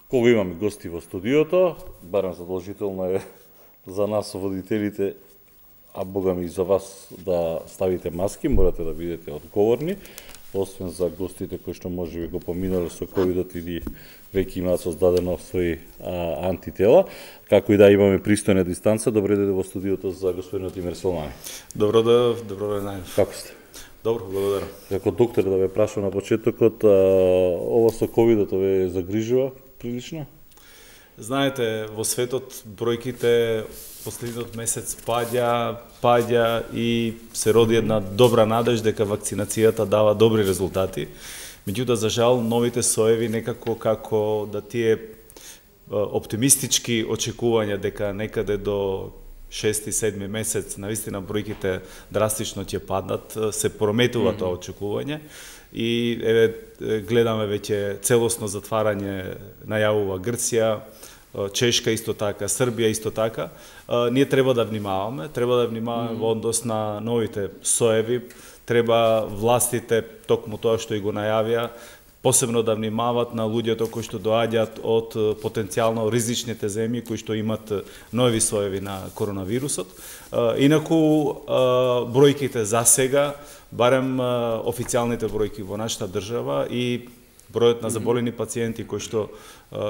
Кога имаме гости во студиото, барем задолжително е за нас водителите, а богами и за вас да ставите маски, морате да бидете одговорни, освен за гостите кои што можеби го поминале со ковидот или веќе имаат создадено своји антитела. Како и да имаме пристојна дистанца, добре дојде во студиото за господинот Имир Солмани. Добро ден. Како сте? Добро, благодарам. Како доктор да ве прашам на почетокот, ова со ковидот ве загрижува прилично? Знаете, во светот бројките последниот месец паѓа и се роди една добра надеж дека вакцинацијата дава добри резултати. Меѓутоа, за жал, новите соеви некако како да тие оптимистички очекувања дека некаде до 6-7 месец навистина бројките драстично ќе паднат, се прометува тоа очекување и гледаме веќе целосно затварање, најавува Грција, Чешка исто така, Србија исто така. Ние треба да внимаваме во однос на новите соеви, треба властите, токму тоа што и го најавија, посебно да внимават на луѓето кои што доаѓаат од потенцијално ризичните земји кои што имат нови соеви на коронавирусот. Инаку бројките за сега, барем официјалните бројки во нашата држава и бројот на заболени пациенти кои што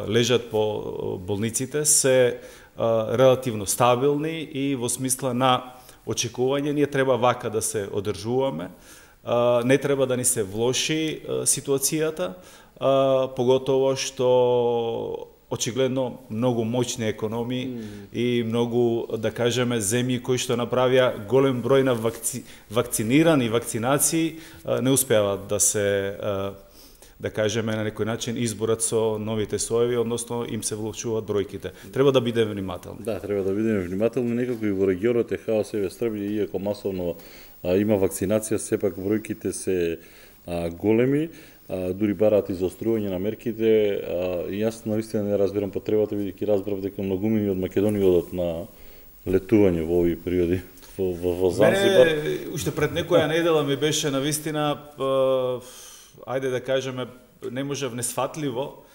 лежат по болниците се релативно стабилни и во смисла на очекување ние треба вака да се одржуваме. Не треба да ни се влоши ситуацијата, поготово што очигледно многу моćни економии и многу, да кажеме, земји кои што направија голем број на вакцинирани вакцинации не успеават да се, да кажеме, на некој начин изборат со новите соеви, односно им се влошуваат бројките. Треба да бидеме внимателни. Да, треба да бидеме внимателни, некако и во регионот е хаос, Србија, иако масовно има вакцинација, сепак бројките се големи, дури бараат изострување на мерките, и јас навистина не разбирам потребата, бидејќи разбрав дека многумини од Македонија одат на летување во овие периоди во Занзибар. Мене, уште пред некоја недела ми беше навистина, ајде да кажеме, не можев несфатливо,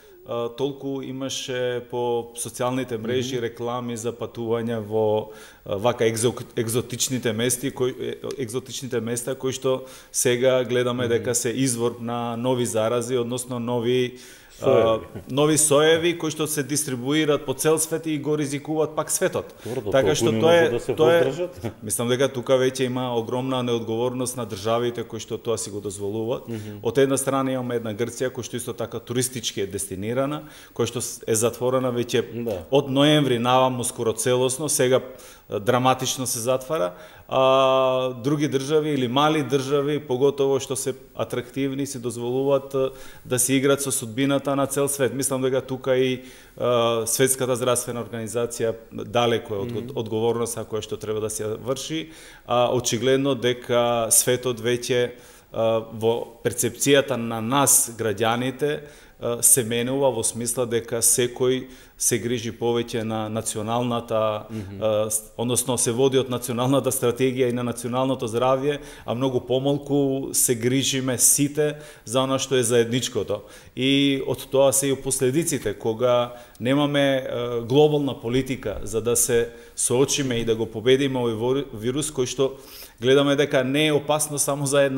толку имаше по социјалните мрежи реклами за патувања во вака екзотичните места кои што сега гледаме дека се извор на нови зарази, односно нови соеви кои што се дистрибуираат по цел свет и го ризикуваат пак светот. Така што тоа е, мислам дека тука веќе има огромна неодговорност на државите кои што тоа си го дозволуваат. Од една страна имаме една Грција која што исто така туристички е дестинирана, која што е затворена веќе од ноември наваму скоро целосно, сега драматично се затвара, а други држави или мали држави, поготово што се атрактивни, се дозволуваат да се играат со судбината на цел свет. Мислам дека тука и Светската здравствена организација далеко е од одговорноста која што треба да се врши, а очигледно дека светот веќе во перцепцијата на нас, граѓаните, се менува во смисла дека секој се грижи повеќе на националната, односно се води од националната стратегија и на националното здравје, а многу помалку се грижиме сите за она што е заедничкото. И од тоа се и последиците, кога немаме глобална политика за да се соочиме и да го победиме овој вирус кој што гледаме дека не е опасно само за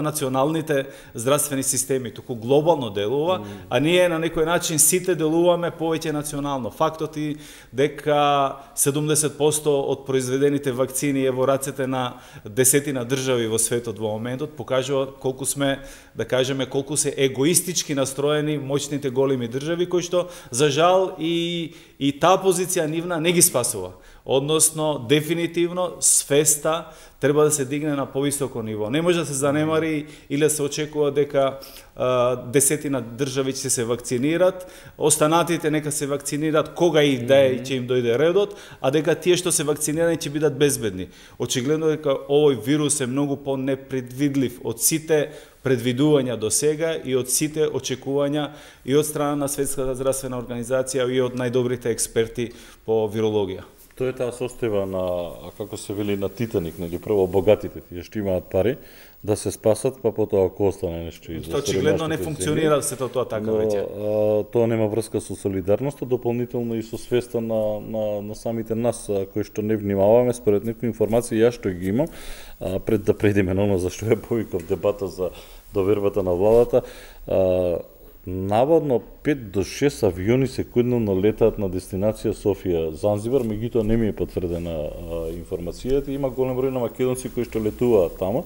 националните здравствени системи, туку глобално делува, а ние на некој начин сите делуваме повеќе национално. Фактот е дека 70% од произведените вакцини е во рацете на десетина држави во светот во моментот, покажува колку сме, да кажеме, колку се егоистички настроени моćните големи држави кои што за жал и таа позиција нивна не ги спасува. Односно, дефинитивно, свеста треба да се дигне на повисоко ниво. Не може да се занемари или да се очекува дека десетина држави ќе се вакцинират, останатите нека се вакцинират кога и да е ќе им дојде редот, а дека тие што се вакцинирани ќе бидат безбедни. Очигледно дека овој вирус е многу по-непредвидлив од сите предвидувања до сега и од сите очекувања и од страна на Светската здравствена организација и од најдобрите експерти по вирологија. Тоа е таа состојба на, како се вели, на Титаник, нели, прво богатите, тие што имаат пари, да се спасат, па потоа ако остане нешто из Тоа очигледно не функционира сето тоа така веќе. Тоа нема врска со солидарноста, дополнително и со свеста на самите нас кои што не внимаваме, според некои информации ја што ги имам, пред да преидеме на оно за што ја повикав дебата за довербата на владата, наводно 5 до 6 авиони секундно летаат на дестинација Софија Занзибар, меѓутоа не ми е потврдена информацијата. Има голем број на македонци кои што летуваат таму,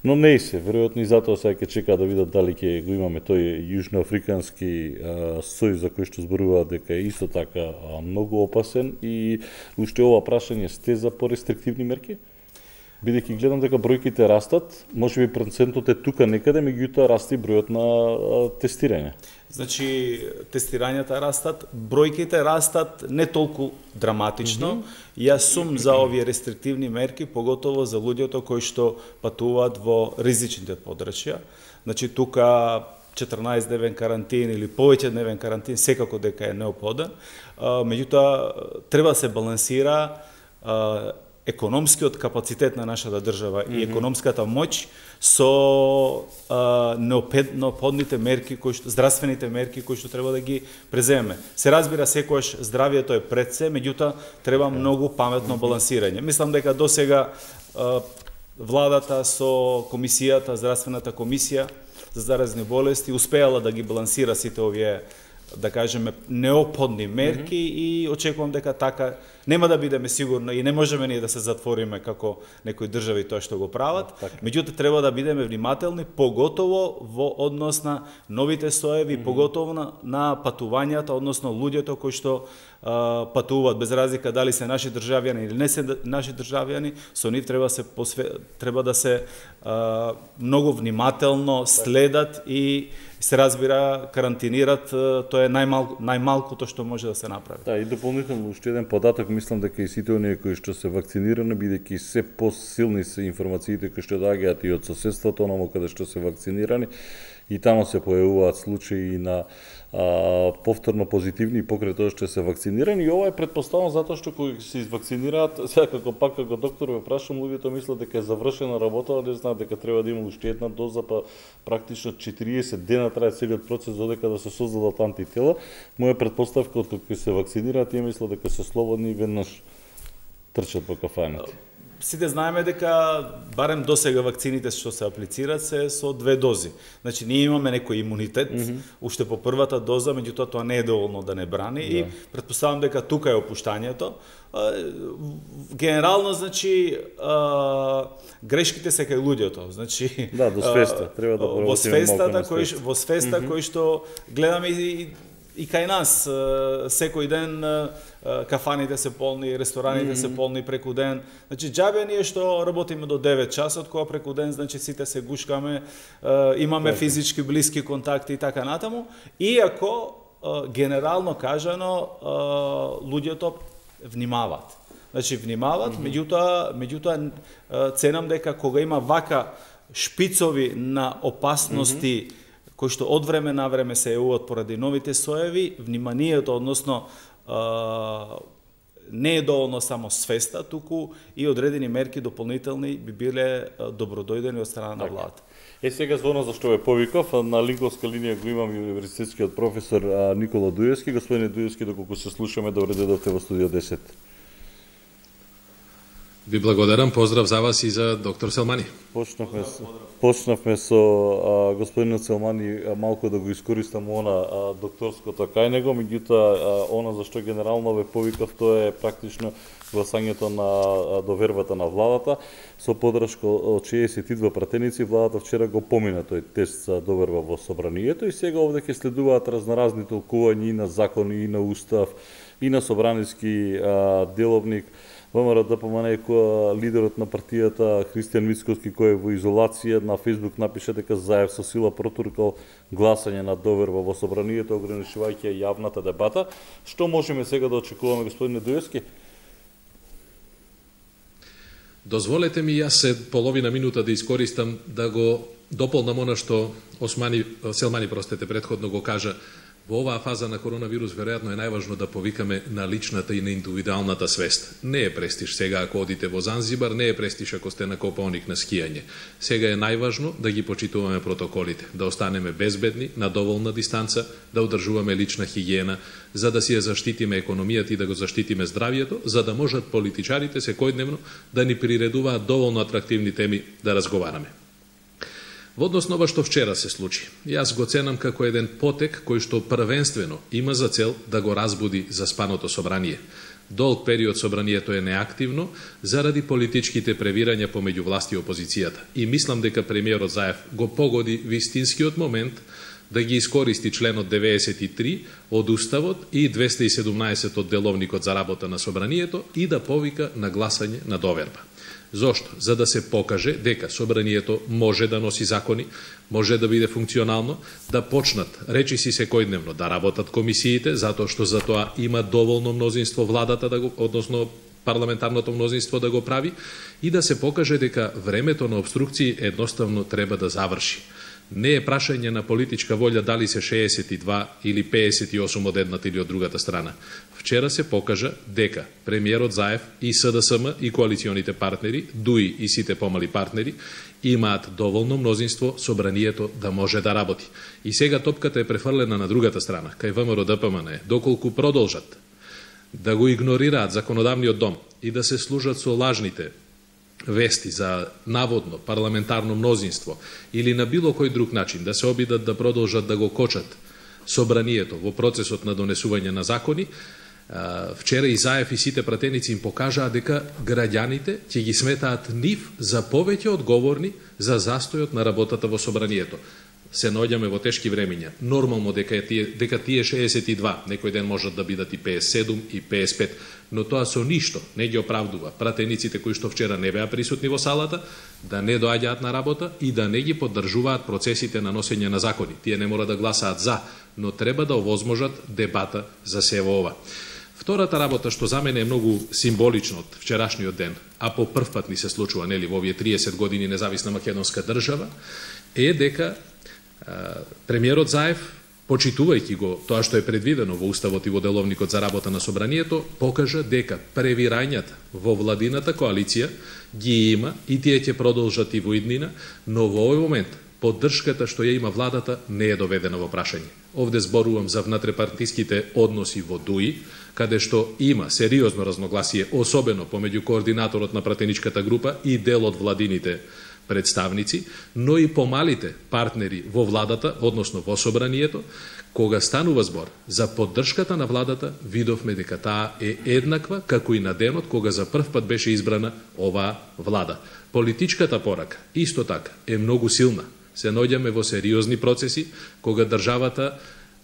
но не и се, веројатно и затоа сега ќе чекаат да видат дали ќе го имаме тој јужноафрикански сој за кој што зборуваат дека е исто така многу опасен и уште ова прашање сте за порестриктивни мерки? Бидејќи гледам дека бројките растат, можеби процентот е тука некаде, меѓутоа расте бројот на тестирање. Значи, тестирањата растат, бројките растат не толку драматично. Јас сум за овие рестриктивни мерки, поготово за луѓето кои што патуваат во ризичните подрачја. Значи, тука 14-дневен карантин или повеќе дневен карантин секако дека е неопходен. Меѓутоа, треба да се балансира економскиот капацитет на нашата држава и економската моќ со неопходните мерки, здравствените мерки кои што треба да ги преземеме. Се разбира секојаш здравието е пред се, меѓутоа треба многу паметно балансирање. Мислам дека досега владата со комисијата, здравствената комисија за заразни болести успеала да ги балансира сите овие, да кажеме, неопходни мерки и очекувам дека така нема да бидеме сигурно и не можеме ние да се затвориме како некои држави тоа што го прават. Меѓутоа треба да бидеме внимателни, поготово во однос на новите соеви, поготово на патувањата, односно луѓето кои што патуваат без разлика дали се наши државјани или не се наши државјани, со нив треба да се многу внимателно следат и се разбира карантинират, тоа е најмалкото што може да се направи. Да, и дополнително уште еден податок, мислам дека и сите оние кои што се вакцинирани, бидејќи се посилни се информациите кои што доаѓаат и од соседството, онамо каде што се вакцинирани, и таму се појавуваат случаи на повторно позитивни покрај тоа што се вакцинирани, и ова е предпоставено затоа што кои се извакцинираат, сега како доктор ве прашам, луѓето мислат дека е завршена работа, не знаат дека треба да има уште една доза, па практично 40 дена трае целиот процес додека да се создадат антитела. Моја предпоставка од кога се вакцинираат, тие мислат дека се слободни и веднаш трчат по кафаните. Сите знаеме дека барем досега вакцините што се аплицираат се со 2 дози. Значи ние имаме некој имунитет уште по првата доза, меѓутоа тоа не е доволно да не брани и претпоставам дека тука е опуштањето. Генерално, значи, грешките се кај луѓето. Значи, да, до свеста, треба да во свеста кој што гледаме и кај нас секој ден кафаните се полни, рестораните се полни преку ден. Значи џабе ние што работиме до 9 часот, кога преку ден значи сите се гушкаме, имаме физички блиски контакти и така натаму, иако генерално кажано луѓето внимаваат. Значи внимаваат, меѓутоа ценам дека кога има вака шпицови на опасности кои што од време на време се јавуваат поради новите соеви, вниманието, односно не е доволно само свеста, туку и одредени мерки дополнителни би биле добродојдени од страна на владата. Сега звона за што ве повикав, на линковска линија го имам и универзитетскиот професор Никола Дуевски. Господине Дуевски, доколку се слушаме, добре дојдовте во студио 10. Ви благодарам, поздрав за вас и за доктор Селмани. Почнавме со господинот Селмани малку да го искористам она докторското кај него, меѓутоа она за што генерално ве повикав, тоа е практично гласањето на довербата на владата. Со подршка од 62 пратеници, владата вчера го помина тој тест за доверба во собранието и сега овде ќе следуваат разноразни толкувања и на закони, и на устав, и на собраниски деловник. ВМРО ДПМН лидерот на партијата Христијан Мицкоски, кој е во изолација, на Фејсбук напише дека Заев со сила протуркал гласање на доверба во собранието, ограничувајќи јавната дебата. Што можеме сега да очекуваме, господине Дуевски? Дозволете ми јас се половина минута да искористам да го дополнам она што Селмани предходно го кажа. Во оваа фаза на коронавирус веројатно е најважно да повикаме на личната и на индивидуалната свест. Не е престиж сега ако одите во Занзибар, не е престиж ако сте на Копаоник на скијање. Сега е најважно да ги почитуваме протоколите, да останеме безбедни, на доволна дистанца, да одржуваме лична хигиена, за да си ја заштитиме економијата и да го заштитиме здравието, за да можат политичарите секојдневно да ни приредуваат доволно атрактивни теми да разговараме. Во однос на ова што вчера се случи, јас го ценам како еден потек кој што првенствено има за цел да го разбуди заспаното собрание. Долг период собранието е неактивно заради политичките превирања помеѓу власт и опозицијата. И мислам дека премиерот Заев го погоди вистинскиот момент да ги искористи членот 93 од Уставот и 217 од Деловникот за работа на собранието и да повика на гласање на доверба. Зошто? За да се покаже дека собранието може да носи закони, може да биде функционално, да почнат речиси секојдневно да работат комисиите, затоа што за тоа има доволно мнозинство владата да го, односно парламентарното мнозинство да го прави и да се покаже дека времето на обструкции едноставно треба да заврши. Не е прашање на политичка волја дали се 62 или 58 од едната или од другата страна. Вчера се покажа дека премиерот Заев и СДСМ и коалиционите партнери, ДУИ и сите помали партнери, имаат доволно мнозинство собранието да може да работи. И сега топката е префрлена на другата страна, кај ВМРО ДПМН, доколку продолжат да го игнорираат законодавниот дом и да се служат со лажните вести за наводно парламентарно мнозинство или на било кој друг начин да се обидат да продолжат да го кочат собранието во процесот на донесување на закони, вчера и Заев и сите пратеници им покажаа дека граѓаните ќе ги сметаат нив за повеќе одговорни за застојот на работата во собранието. Се наоѓаме во тешки времиња. Нормално дека тие 62, некој ден можат да бидат и 57 и 55, но тоа со ништо не ги оправдува пратениците кои што вчера не беа присутни во салата, да не доаѓаат на работа и да не ги поддржуваат процесите на носење на закони. Тие не мора да гласаат за, но треба да овозможат дебата за сево ова. Втората работа што за мене е многу символично од вчерашниот ден, а по прв пат ни се случува, нели, во овие 30 години независна македонска држава, е дека премиерот Заев, почитувајќи го тоа што е предвидено во Уставот и во Деловникот за работа на собранието, покажа дека превирањата во владината коалиција ги има и тие ќе продолжат и во иднина, но во овој момент поддршката што ја има владата не е доведена во прашање. Овде зборувам за внатрепартиските односи во ДУИ, каде што има сериозно разногласие, особено помеѓу координаторот на пратеничката група и дел од владините представници, но и помалите партнери во владата, односно во собранието, кога станува збор за поддршката на владата, видовме дека таа е еднаква како и на денот кога за прв пат беше избрана оваа влада. Политичката порака исто така е многу силна. Се наоѓаме во сериозни процеси кога државата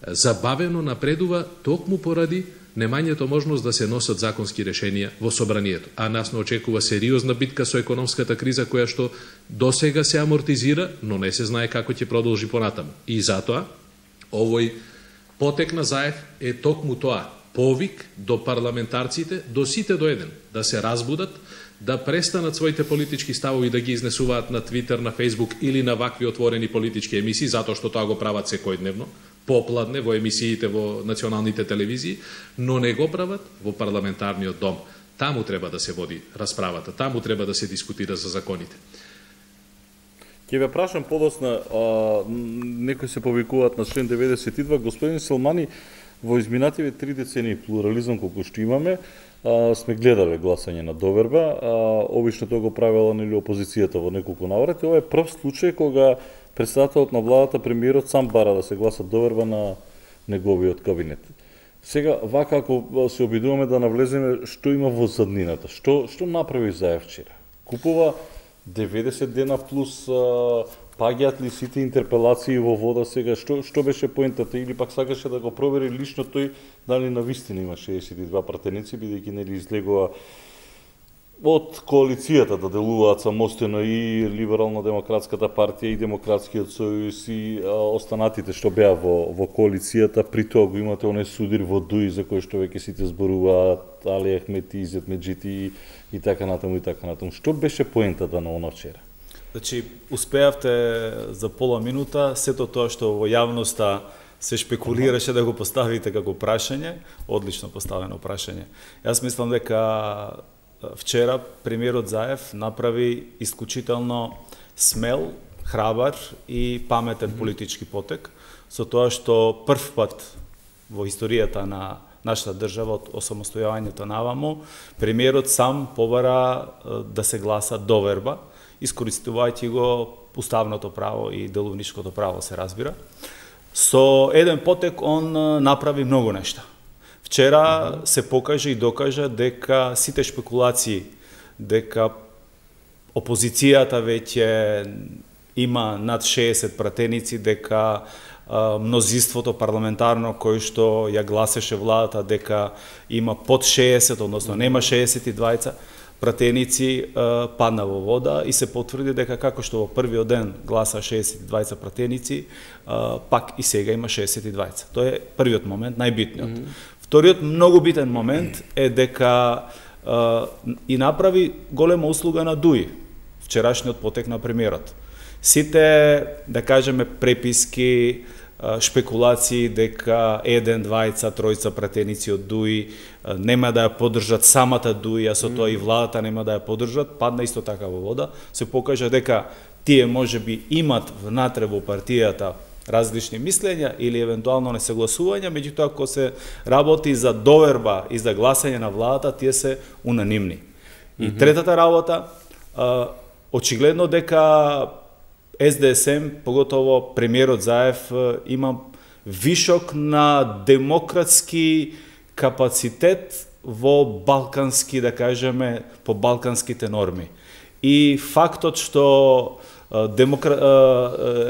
забавено напредува токму поради немањето можност да се носат законски решенија во собранието. А нас не очекува сериозна битка со економската криза која што досега се амортизира, но не се знае како ќе продолжи понатаму. И затоа овој потек на Заев е токму тоа, повик до парламентарците, до сите до еден, да се разбудат, да престанат своите политички ставови да ги изнесуваат на Твитер, на Фейсбук или на вакви отворени политички емисии, затоа што тоа го прават секојдневно, попладне во емисиите во националните телевизии, но не го прават во парламентарниот дом. Таму треба да се води расправата, таму треба да се дискутира за законите. Ќе ве прашам подосна, некои се повикуваат на член 92, господин Селмани, во изминативе 3 децении плурализам колку што имаме, сме гледале гласање на доверба, обично тоа го правела нели опозицијата во неколку наврати. Ова е прв случај кога председателот на владата, премиерот, сам бара да се гласа доверба на неговиот кабинет. Сега, вака ако се обидуваме да навлеземе што има во заднината, што направи Заев вчера? Купува 90 дена плюс паѓаат ли сите интерпелации во вода сега, што беше поентата, или пак сакаше да го провери лично тој дали навистина има 62 пратеници, бидејќи нели излегува од коалицијата да делуваат самостојно и Либерално-демократската партија и Демократскиот сојуз и останатите што беа во коалицијата, при тоа го имате оној судир во ДУИ за кој што веќе сите зборуваат, Али Ахмети, Изет Меджити и така натаму и така натаму. Што беше поентата на оно вчера? Значи, успеавте за пола минута сето тоа што во јавноста се шпекулираше да го поставите како прашање, одлично поставено прашање. Јас мислам дека вчера премиерот Заев направи исклучително смел, храбар и паметен политички потек, со тоа што прв пат во историјата на нашата држава од осамостојувањето наваму, премиерот сам побара да се гласа доверба, искористувајќи го уставното право и деловничкото право, се разбира. Со еден потек он направи многу нешта. Вчера се покажа и докажа дека сите шпекулации, дека опозицијата веќе има над 60 пратеници, дека мнозинството парламентарно кој што ја гласеше владата дека има под 60, односно нема 62 пратеници, падна во вода и се потврди дека како што во првиот ден гласа 62 пратеници, пак и сега има 62. Тоа е првиот момент, најбитниот. Вториот многу битен момент е дека и направи голема услуга на ДУИ, вчерашниот потек на премиерот. Сите, да кажеме, преписки, шпекулации дека 1, 2, 3 пратеници од ДУИ нема да ја поддржат самата ДУИ, а со тоа и владата нема да ја поддржат, падна исто така во вода. Се покажа дека тие можеби имат внатре во партијата различни мислења или евентуално несогласувања, меѓутоа ако се работи за доверба и за гласање на владата, тие се унанимни. И третата работа, очигледно дека СДСМ, поготово премиерот Заев, има вишок на демократски капацитет во балкански, да кажеме, по балканските норми. И фактот што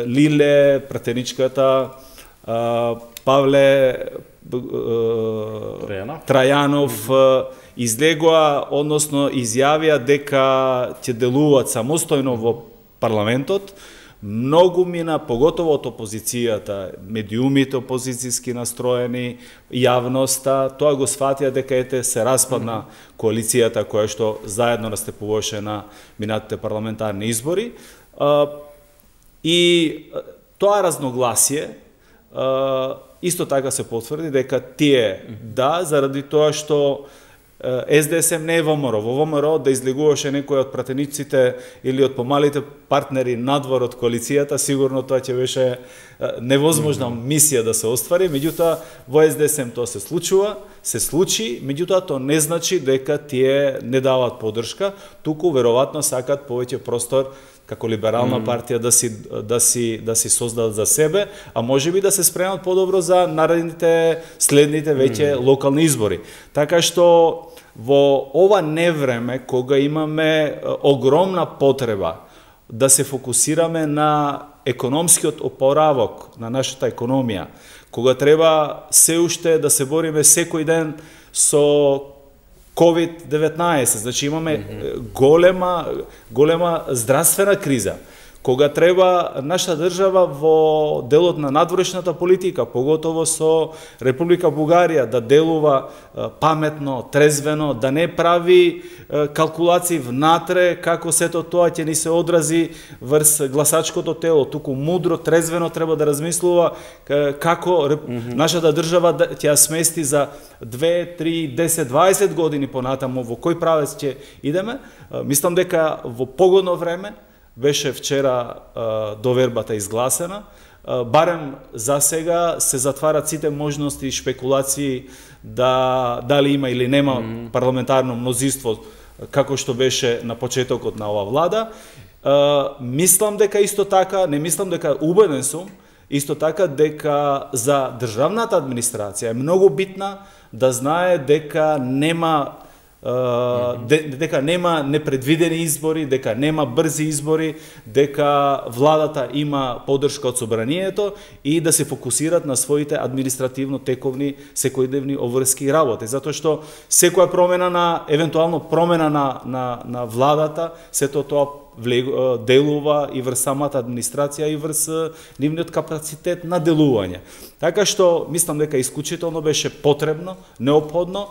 Лиле, пратеничката, Павле Трајанов излегоа, односно изјавија дека ќе делуваат самостојно во парламентот, многу мина, поготово од опозицијата, медиумите опозицијски настроени, јавноста, тоа го сфатија дека ете се распадна коалицијата која што заедно настапуваше на минатите парламентарни избори. И тоа разногласие исто така се потврди дека тие, да, заради тоа што СДСМ не е ВМРО. Во ВМРО да излегуваше некој од пратениците или од помалите партнери надвор од коалицијата, сигурно тоа ќе беше невозможна мисија да се оствари, меѓутоа во СДСМ тоа се случи, меѓутоа тоа не значи дека тие не даваат поддршка, туку веројатно сакат повеќе простор како либерална партија да си создадат за себе, а можеби да се спремат подобро за наредните, следните веќе локални избори. Така што во ова невреме, кога имаме огромна потреба да се фокусираме на економскиот опоравок на нашата економија, кога треба се уште да се бориме секој ден со COVID-19, значи имаме голема здравствена криза, кога треба нашата држава во делот на надворешната политика, поготово со Република Бугарија, да делува паметно, трезвено, да не прави калкулации внатре како сето тоа ќе ни се одрази врз гласачкото тело, туку мудро, трезвено треба да размислува како нашата држава ќе ја смести за 2, 3, 10, 20 години понатаму, во кој правец ќе идеме. Мислам дека во погодно време беше вчера довербата изгласена, барем за сега се затварат сите можности и шпекулации дали има или нема парламентарно мнозинство како што беше на почетокот на ова влада. Мислам дека исто така, не мислам дека, убеден сум, исто така дека за државната администрација е многу битна да знае дека нема непредвидени избори, дека нема брзи избори, дека владата има поддршка од собранието и да се фокусират на своите административно-тековни секојдневни обврски работи. Затоа што секоја промена евентуално промена на владата, сето тоа делува и врз самата администрација и врз нивниот капацитет на делување. Така што мислам дека исклучително беше потребно, неопходно.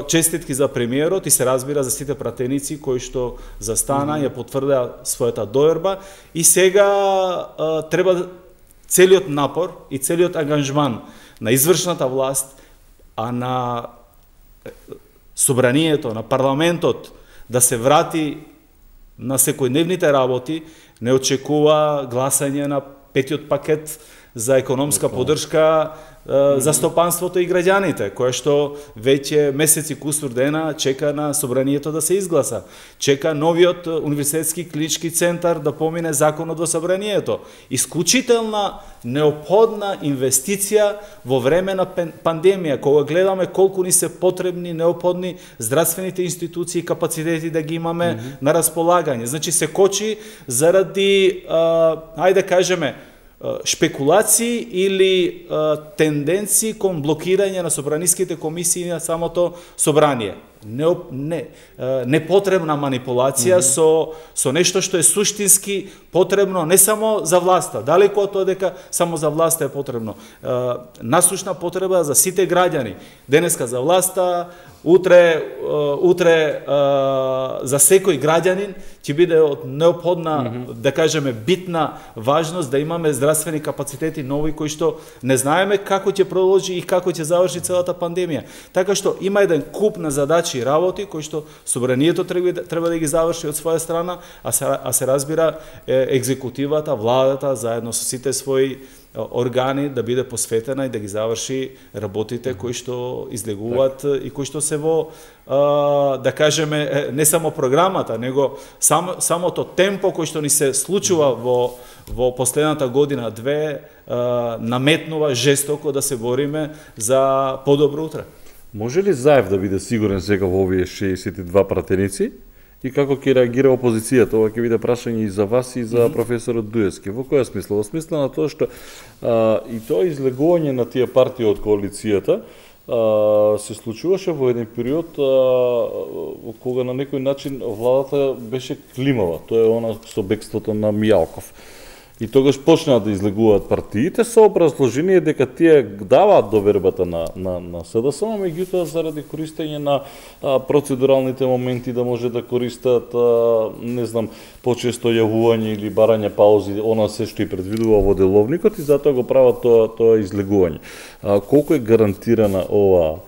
Честитки за премиерот и се разбира за сите пратеници кои што застана, ја потврдеа својата доверба и сега треба целиот напор и целиот ангажман на извршната власт, а на собранието, на парламентот да се врати на секојдневните работи, не очекува гласање на петиот пакет за економска поддршка за стопанството и граѓаните, кое што веќе месеци кусур дена чека на собранието да се изгласа. Чека новиот универзитетски клинички центар да помине законот во собранието. Исклучителна неопходна инвестиција во време на пандемија, кога гледаме колку ни се потребни, неопходни здравствените институции и капацитети да ги имаме на располагање. Значи се кочи заради, ајде кажеме, шпекулации или тенденции кон блокирање на собраниските комисии на самото собрание. Непотребна манипулација со нешто што е суштински потребно не само за власта, далеку од тоа дека само за власта е потребно. Насушна потреба за сите граѓани. Денеска за власта, утре за секој граѓанин ќе биде од неопходна, да кажеме, битна важност да имаме здравствени капацитети нови кои што не знаеме како ќе продолжи и како ќе заврши целата пандемија. Така што има еден куп на задачи и работи кои што собранието треба да ги заврши од своја страна, а се разбира екзекутивата, владата заедно со сите своји органи да биде посветена и да ги заврши работите кои што излегуваат и кои што се во, да кажеме, не само програмата, него самото темпо кој што ни се случува во последната година-две наметнува жестоко да се бориме за подобро утре. Може ли Заев да биде сигурен сега во овие 62 пратеници? И како ќе реагира опозицијата? Ова ќе биде прашање и за вас и за професорот Дуевски. Во која смисла? Во смисла на тоа што и тоа излегување на тие партии од коалицијата се случуваше во еден период кога на некој начин владата беше климава. Тоа е она со бегството на Мијалков. И тогаш почнаа да излегуваат партиите со образложение дека тие даваат довербата на СДСМ, меѓутоа заради користење на процедуралните моменти да може да користат, не знам, почесто јавување или барање паузи, она се што и предвидува во деловникот и затоа го прават тоа излегување. Колку е гарантирана ова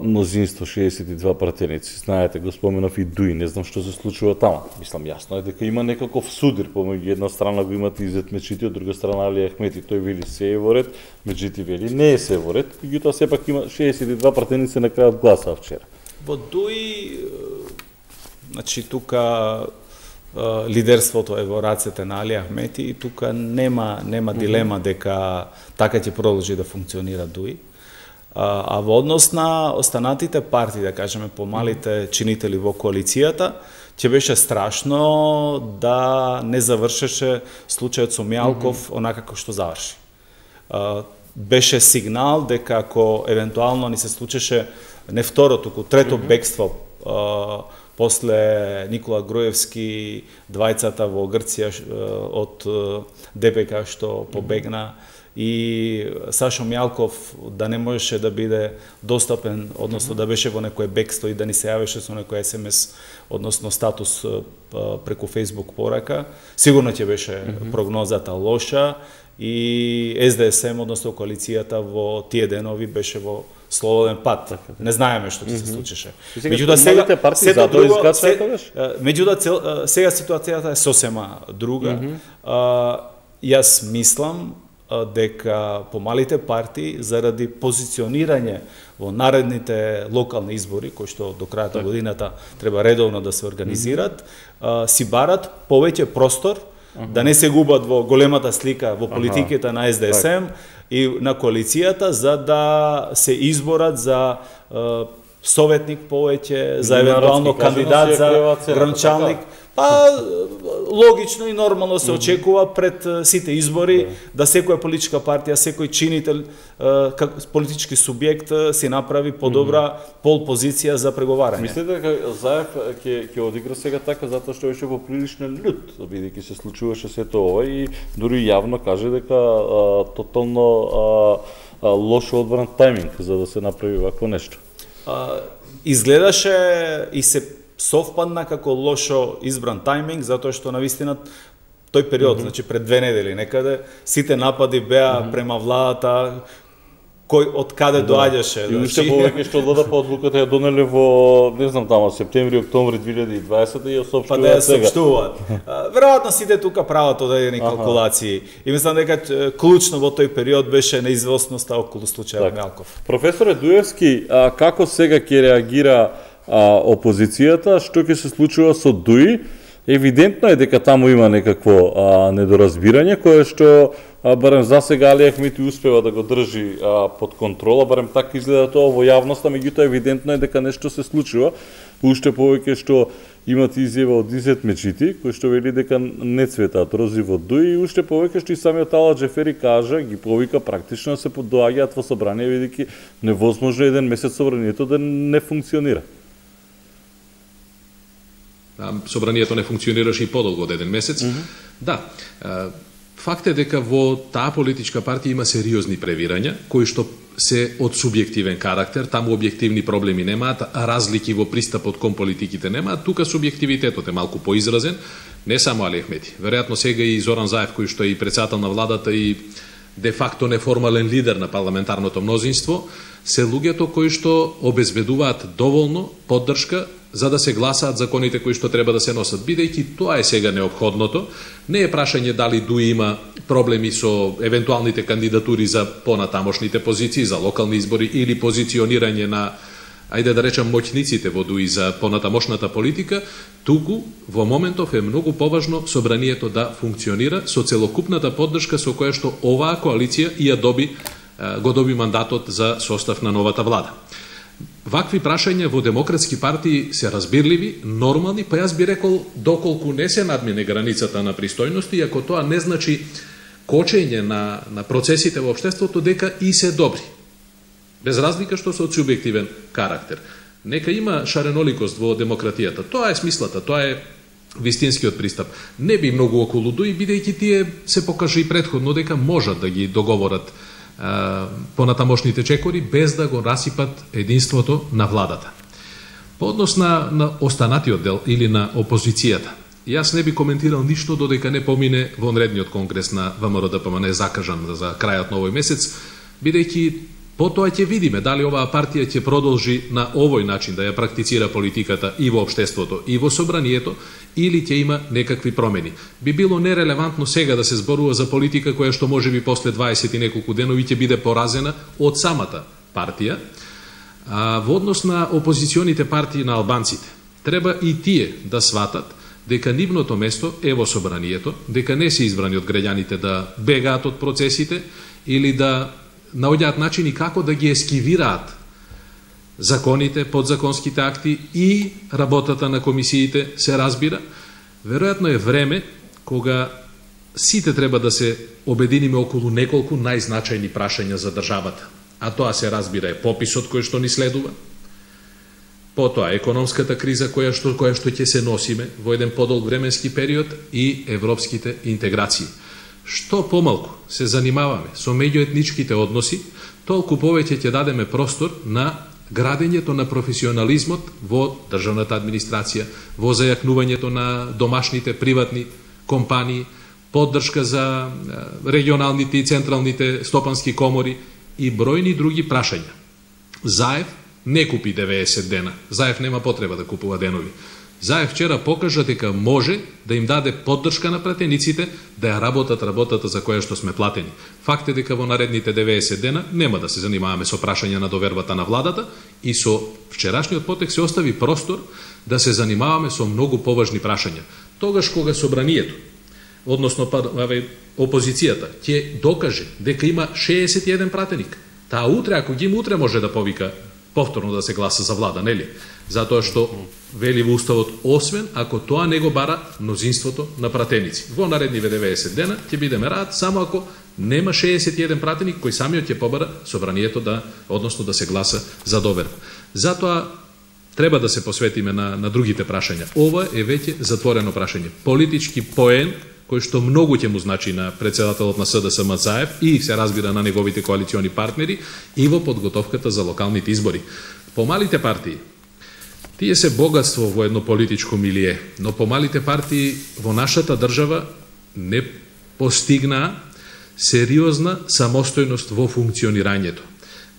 мнозинство 62 пратеници? Знаете, го споменав и Дуи, не знам што се случува тама. Мислам, јасно е дека има некаков судир, помеѓу една страна го имате Изет Мечити, од друга страна Али Ахмети, тој вели се е во ред, Мечити вели не е се во ред, меѓутоа сепак има 62 пратеници на крајот гласаа вчера. Во Дуи, значи тука лидерството е во рацете на Али Ахмети и тука нема дилема дека така ќе продолжи да функционира Дуи. А во однос на останатите партии, да кажеме, помалите чинители во коалицијата, ќе беше страшно да не завршеше случајот со Мијалков онака како што заврши. Беше сигнал дека ако евентуално ни се случеше не второ, туку трето бегство после Никола Груевски, двајцата во Грција од ДПК што побегна, и Сашо Мијалков да не можеше да биде достапен, односно да беше во некој бегство и да ни се јавеше со некој СМС, односно статус преку Facebook порака, сигурно ќе беше прогнозата лоша и СДСМ, односно коалицијата во тие денови беше во слободен пат. Не знаеме што ќе се случеше. Меѓутоа сега ситуацијата е сосема друга. Јас мислам дека помалите партии заради позиционирање во наредните локални избори, кои што до крајот на годината треба редовно да се организират, си барат повеќе простор, да не се губат во големата слика во политиката на СДСМ и на коалицијата, за да се изборат за советник повеќе, за евентуално кандидат за гранчалник. Па логично и нормално се очекува пред сите избори да секоја политичка партија, секој чинител, политички субјект си направи подобра пол позиција за преговарање. Мислите дека Заев ќе одигра сега така затоа што беше поприлично лют, бидејќи се случуваше сето ова и дури јавно каже дека тотално лошо одбран тајминг за да се направи вакво нешто? Изгледаше и се совпадна како лошо избран тајминг, затоа што навистина тој период, значи пред 2 недели некаде, сите напади беа према владата, кој од каде доаѓаше. И уште повеќе што ЛДП одлуката ја донеле во, не знам тама, септември, октомври 2020 и ја соопштуваат па да ја сега. соопштуваат. Веројатно сите тука прават одредени калкулации. И мислам дека клучно во тој период беше неизвестноста околу случајот Мелков. Професоре Дуевски, како сега ќе реагира опозицијата, што ќе се случува со ДУИ? Евидентно е дека таму има некакво недоразбирање, кое што барем за сега Али Ахмети успева да го држи под контрола, барем така изгледа тоа во јавноста, меѓутоа евидентно е дека нешто се случува, уште повеќе што имат изјава од Изет Мечити, кој што вели дека не цветаат рози во ДУИ, и уште повеќе што и самиот Ала Джефери кажа, ги повика практично да се доаѓаат во собрание, бидејќи невозможно еден месец собранието да не функционира. Собранието не функционираше и подолго од еден месец. Да, факт е дека во таа политичка партија има сериозни превирања, кои што се од субјективен карактер, таму објективни проблеми немаат, разлики во пристапот кон политиките немаат, тука субјективитетот е малку поизразен, не само Али Ахмети. Веројатно сега и Зоран Заев, кој што е и председател на владата и де факто неформален лидер на парламентарното мнозинство, се луѓето кои што обезбедуваат доволно поддршка за да се гласаат законите кои што треба да се носат. Бидејќи тоа е сега неопходното, не е прашање дали ДУИ има проблеми со евентуалните кандидатури за понатамошните позиции, за локални избори или позиционирање на, ајде да речам, моќниците во ДУИ за понатамошната политика, туку во моментов е многу поважно собранието да функционира со целокупната поддршка со која што оваа коалиција го доби мандатот за состав на новата влада. Вакви прашања во демократски партии се разбирливи, нормални, па јас би рекол доколку не се надмине границата на пристојност, и ако тоа не значи кочење на процесите во општеството, дека и се добри. Без разлика што се од субјективен карактер. Нека има шареноликост во демократијата. Тоа е смислата, тоа е вистинскиот пристап. Не би многу околу ДУИ, бидејќи тие се покажа и претходно дека можат да ги договорат понатамошните чекори без да го расипат единството на владата. По однос на останатиот дел или на опозицијата, јас не би коментирал ништо додека не помине вонредниот конгрес на ВМРО-ДПМН закажан за крајот на овој месец, бидејќи потоа ќе видиме дали оваа партија ќе продолжи на овој начин да ја практицира политиката и во општеството и во собранието, или ќе има некакви промени. Би било нерелевантно сега да се зборува за политика која што може би после 20 и неколку денови ќе биде поразена од самата партија. Во однос на опозиционите партии на албанците, треба и тие да сватат дека нивното место е во собранието, дека не се избрани од граѓаните да бегаат од процесите или да наоѓаат начини како да ги ескивираат законите, подзаконските акти и работата на комисиите, се разбира. Веројатно е време кога сите треба да се обединиме околу неколку најзначајни прашања за државата. А тоа се разбира е пописот кој што ни следува, потоа економската криза која што ќе се носиме во еден подолг временски период и европските интеграции. Што помалку се занимаваме со меѓуетничките односи, толку повеќе ќе дадеме простор на градењето на професионализмот во државната администрација, во зајакнувањето на домашните приватни компании, поддршка за регионалните и централните стопански комори и бројни други прашања. Заев не купи 90 дена. Заев нема потреба да купува денови. Заев вчера покажа дека може да им даде поддршка на пратениците да ја работат работата за која што сме платени. Факт е дека во наредните 90 дена нема да се занимаваме со прашања на довербата на владата и со вчерашниот потек се остави простор да се занимаваме со многу поважни прашања. Тогаш кога собранието, односно опозицијата, ќе докаже дека има 61 пратеник, таа утре, ако ги има утре, може да повика повторно да се гласа за влада, нели? Затоа што вели во уставот, освен ако тоа не го бара мнозинството на пратеници. Во наредниве 90 дена ќе бидеме рад само ако нема 61 пратеник кој самиот ќе побара собранието односно да се гласа за доверба. Затоа треба да се посветиме на другите прашања. Ова е веќе затворено прашање. Политички поен кој што многу ќе му значи на председателот на СДСМ Заев и се разбира на неговите коалициони партнери и во подготовката за локалните избори. Помалите партии, тие се богатство во едно политичко милие, но помалите партии во нашата држава не постигнаа сериозна самостојност во функционирањето.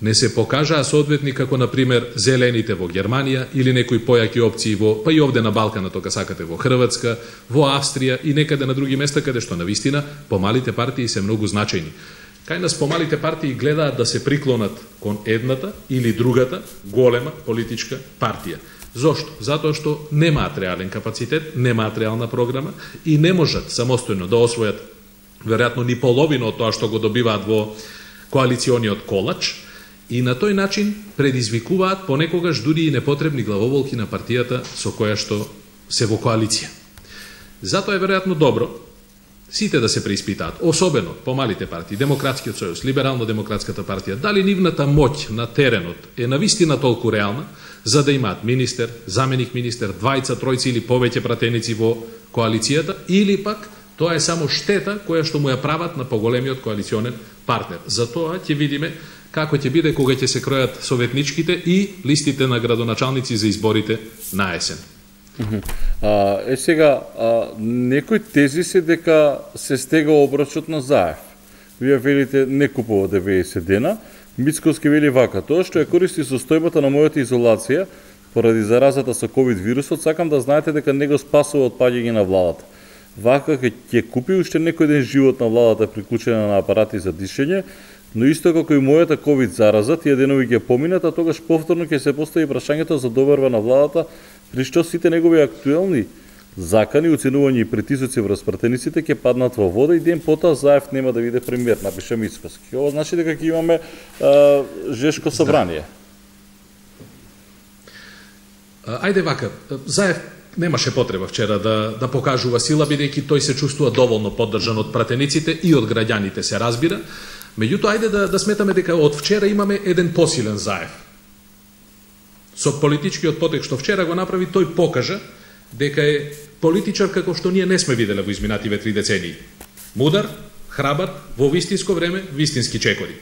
Не се покажаа соодветни како, например, зелените во Германија или некои појаки опции па и овде на Балканот, ако сакате, во Хрватска, во Австрија и некаде на други места, каде што навистина помалите партии се многу значајни. Кај нас помалите партии гледаат да се приклонат кон едната или другата голема политичка партија. Зошто? Затоа што немаат реален капацитет, немаат реална програма и не можат самостојно да освојат веројатно ни половина од тоа што го добиваат во коалициониот колач, и на тој начин предизвикуваат понекогаш дури и непотребни главоволки на партијата со која што се во коалиција. Затоа е веројатно добро сите да се преиспитаат, особено помалите партии, Демократскиот сојуз, Либерално-демократската партија, дали нивната моќ на теренот е навистина толку реална, за да имаат министер, заменик министер, двајца, тројци или повеќе пратеници во коалицијата, или пак тоа е само штета која што му ја прават на поголемиот коалиционен партнер. Затоа ќе видиме како ќе биде кога ќе се кројат советничките и листите на градоначалници за изборите на есен. Сега, некои тези се дека се стега обрачот на Заев. Вие велите не купува 90 дена, Мицковски вели вака: тоа што ја користи состојбата на мојата изолација поради заразата со ковид вирусот, сакам да знаете дека не го спасува од паѓање на владата. Вака ќе купи уште некој ден живот на владата приклучена на апарати за дишење, но исто како и мојата ковид зараза, тие денови ќе поминат, а тогаш повторно ќе се постави прашањето за добарба на владата, при што сите негови актуелни закани, оценувања и притисоци врз пратениците ќе паднат во вода и ден потоа Заев нема да биде премиер, напиша Мицковски. Ова значи дека ќе имаме жешко собрание. Ајде вака, Заев немаше потреба вчера да покажува сила, бидејќи тој се чувствува доволно поддржан од пратениците и од граѓаните, се разбира. Меѓутоа, ајде да сметаме дека од вчера имаме еден посилен Заев. Со политичкиот потек што вчера го направи, тој покажа дека е политичар како што ние не сме виделе во изминативе 3 децении. Мудар, храбар, во вистинско време, вистински чекори.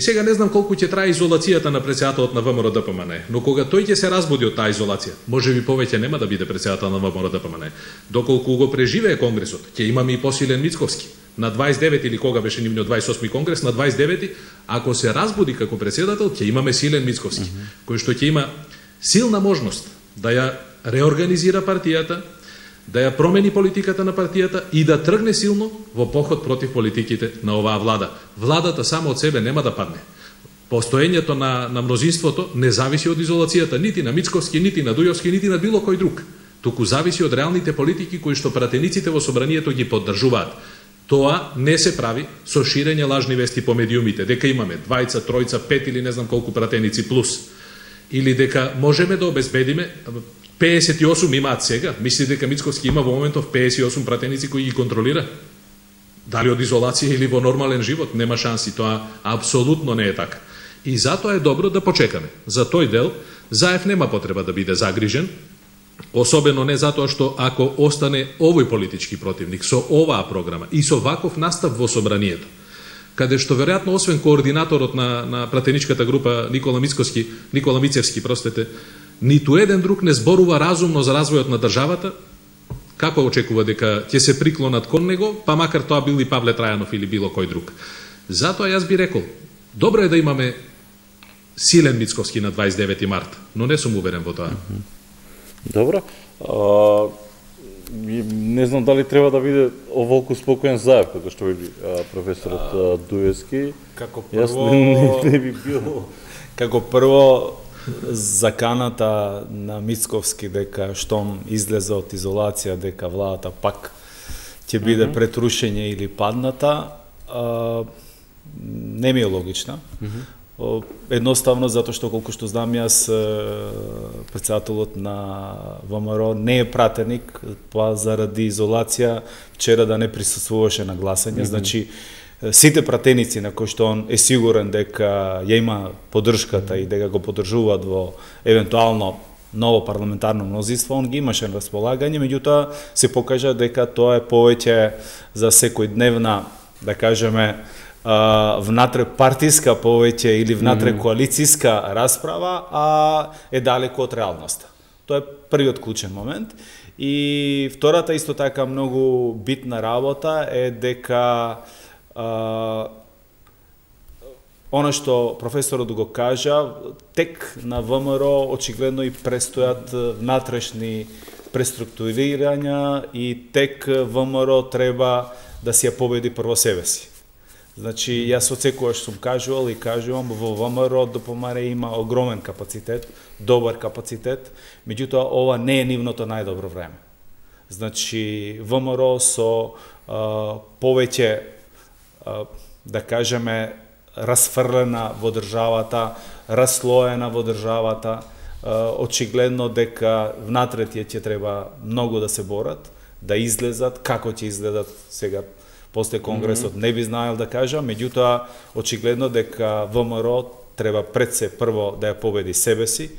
Сега не знам колку ќе трае изолацијата на претседателот на ВМРО-ДПМН, но кога тој ќе се разбуди од таа изолација, можеби повеќе нема да биде претседател на ВМРО-ДПМН. Доколку го преживее конгресот, ќе имаме и посилен Мицковски. На 29 или кога беше нивниот 28 конгрес, на 29, ако се разбуди како претседател, ќе имаме силен Мицковски, кој што ќе има силна можност да ја реорганизира партијата, да ја промени политиката на партијата и да тргне силно во поход против политиките на оваа влада. Владата само од себе нема да падне. Постоењето на мнозинството не зависи од изолацијата, нити на Мицковски, нити на Дујовски, нити на било кој друг. Туку зависи од реалните политики кои што пратениците во собранието ги поддржуваат. Тоа не се прави со ширење лажни вести по медиумите, дека имаме двајца, тројца, пет или не знам колку пратеници плюс. Или дека можеме да обезбедиме 58 имаат сега. Мисли дека Мицковски има во моментов 58 пратеници кои ги контролира? Дали од изолација или во нормален живот? Нема шанси, тоа апсолутно не е така. И затоа е добро да почекаме. За тој дел Заев нема потреба да биде загрижен, особено не затоа што ако остане овој политички противник со оваа програма и со ваков настав во собранието, каде што веројатно освен координаторот на пратеничката група Никола Мицевски, ниту еден друг не зборува разумно за развојот на државата, како очекува дека ќе се приклонат кон него, па макар тоа бил и Павле Трајанов или било кој друг. Затоа јас би рекол, добро е да имаме силен Мицковски на 29 март, но не сум уверен во тоа. Добро. Не знам дали треба да биде оволку спокоен Заев, како што вели професорот Дуевски. Како прво, не би било. Како прво, заканата на Мицковски дека штом излезе од изолација, дека владата пак ќе биде пред рушење или падната, не ми е логична. Едноставно затоа што колку што знам јас, претседателот на ВМРО не е пратеник, па заради изолација вчера да не присуствуваше на гласање, значи сите пратеници на кои што он е сигурен дека ја има поддршката и дека го поддржуваат во евентуално ново парламентарно мнозинство, он ги имаше на располагање, меѓутоа се покажа дека тоа е повеќе за секојдневна, да кажеме, внатре партиска повеќе или внатре коалициска расправа, а е далеко од реалноста. Тоа е првиот клучен момент. И втората исто така многу битна работа е дека она што професорот го кажа, тек на ВМРО очигледно и престојат внатрешни преструктурирања и тек ВМРО треба да си ја победи прво себе си. Значи, јас од секојаш сум кажувал и кажувам, во ВМРО ДПМН има огромен капацитет, добар капацитет, меѓутоа ова не е нивното најдобро време. Значи, ВМРО со повеќе, да кажеме, расфрлена во државата, раслоена во државата, очигледно дека внатре тие ќе треба многу да се борат, да излезат, како ќе изгледат сега после Конгресот, не би знаел да кажам, меѓутоа очигледно дека ВМРО треба пред се прво да ја победи себе си,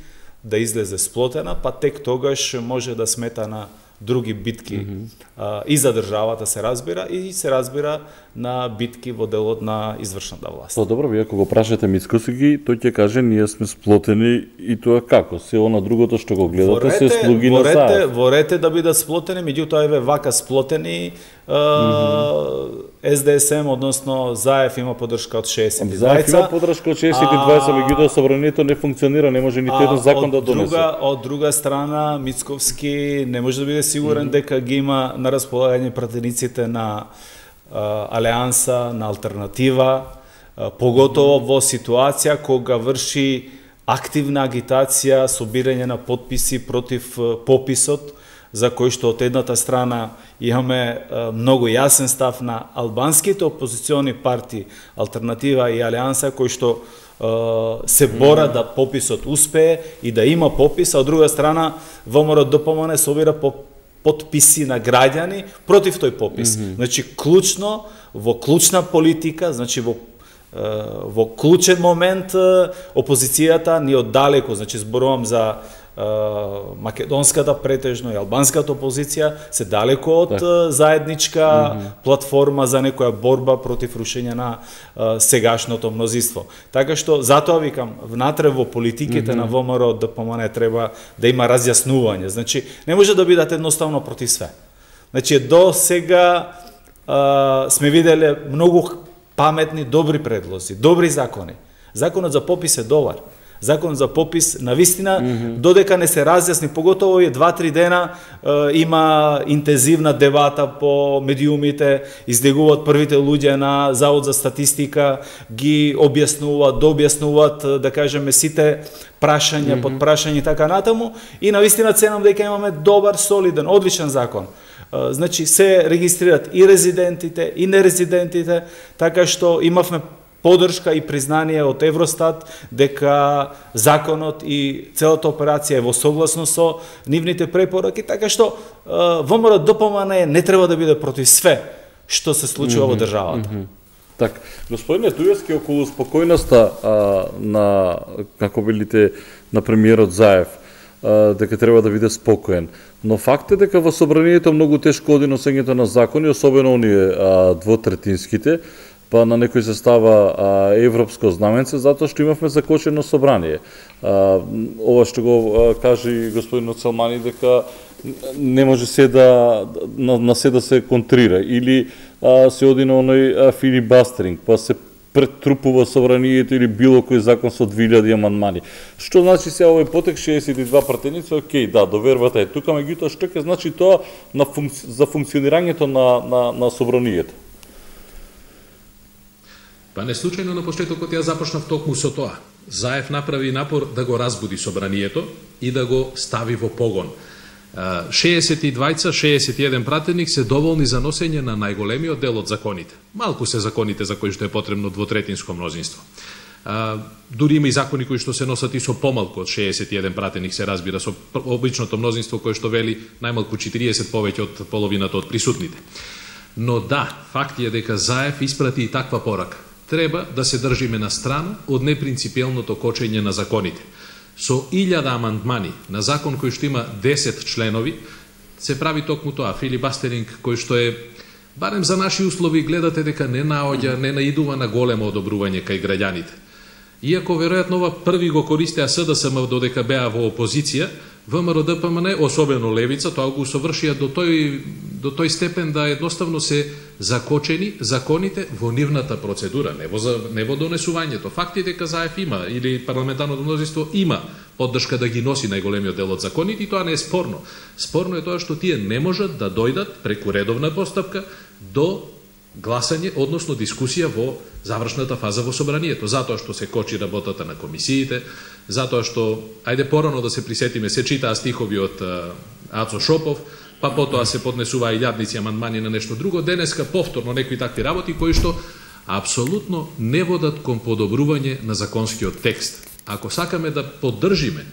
да излезе сплотена, па тек тогаш може да смета на други битки и за државата се разбира, и се разбира на битки во делот на извршната власт. Па добро, вие ако го прашате Мицкоски, тој ќе каже ние сме сплотени и тоа како? Се она другото што го гледате се слуги на Заев. Ворете да бидат сплотени, меѓутоа еве вака сплотени СДСМ, односно Заев има поддршка од 62. Заев има поддршка од 62, меѓутоа собранието не функционира, не може ниту еден закон да донесе. Од друга страна, Мицковски не може да биде сигурен дека ги има на располагање пратениците на Алијанса, на Алтернатива, поготово во ситуација кога врши активна агитација, собирање на потписи против пописот, за кој што од едната страна имаме многу јасен став на албанските опозициони партии, Алтернатива и Алијанса, кои што се бора да пописот успее и да има попис, а од друга страна ВМРО ДПМН собира потписи на граѓани против тој попис. Значи, клучно, во клучна политика, значи во клучен момент опозицијата ни оддалеку, значи зборувам за македонската претежно и албанската опозиција, се далеко од заедничка платформа за некоја борба против рушење на сегашното мнозинство. Така што, затоа викам, внатре во политиките на ВМРО ДПМН треба да има разјаснување. Значи, не може да бидат едноставно против све. Значи, до сега сме виделе многу паметни, добри предлози, добри закони. Законот за попис е добар. Закон за попис, навистина, додека не се разјасни, поготово и 2-3 дена има интензивна дебата по медиумите, излегуваат првите луѓе на Завод за статистика, ги објаснуваат, дообјаснуваат, да кажеме, сите прашања, подпрашања и така натаму, и навистина ценам дека имаме добар, солиден, одличен закон. Значи, се регистрират и резидентите, и нерезидентите, така што имавме поддршка и признание од Евростат дека законот и целата операција е во согласност со нивните препораки, така што ВМРО ДПМН не треба да биде против све што се случува во државата. Так, господине Дујевски, околу спокојноста на, како велите, на премиерот Заев, дека треба да биде спокоен. Но факт е дека во собранието многу тешко оди носењето на закони, особено оние двотретинските, па на некој се става европско знаменце, затоа што имавме закочено собрание. Ова што го кажи господин Селмани, дека не може се на се да се контрира, или се оди на оној филибастеринг, па се претрупува собранието или било кој закон со 2000 амандмани. Што значи се овој потек 62 пратеници, окей, да, довербата е тука, меѓутоа што ќе значи тоа за функционирањето на собранието? Па не случајно на почетокот ја започнав токму со тоа. Заев направи напор да го разбуди собранието и да го стави во погон. 61 пратеник се доволни за носење на најголемиот дел од законите. Малку се законите за кои што е потребно двотретинско мнозинство. Дури има и закони кои што се носат и со помалку од 61 пратеник, се разбира, со обичното мнозинство кое што вели најмалку 40 повеќе од половината од присутните. Но да, факт е дека Заев испрати и таква порака. Треба да се држиме на страна од непринципиелното кочење на законите. Со 1000 амандмани на закон кој што има 10 членови, се прави токму тоа, филибастеринг кој што е, барем за наши услови, гледате дека не наоѓа, не наидува на големо одобрување кај граѓаните. Иако веројатно ова први го користеа СДСМ додека беа во опозиција, ВМРО ДПМН, особено левица, тоа го усовршија до тој степен да едноставно се закочени законите во нивната процедура, не во донесувањето. Факт е дека ЗАЕФ има, или парламентарното мнозинство има поддршка да ги носи најголемиот дел од законите, и тоа не е спорно. Спорно е тоа што тие не можат да дојдат преку редовна постапка до гласање, односно дискусија во завршната фаза во собранието, затоа што се кочи работата на комисиите, затоа што, ајде порано да се присетиме, се читаа стихови од Ацо Шопов, па потоа се поднесуваа илјадници амандмани на нешто друго, денеска повторно некои такви работи кои што апсолутно не водат кон подобрување на законскиот текст. Ако сакаме да поддржиме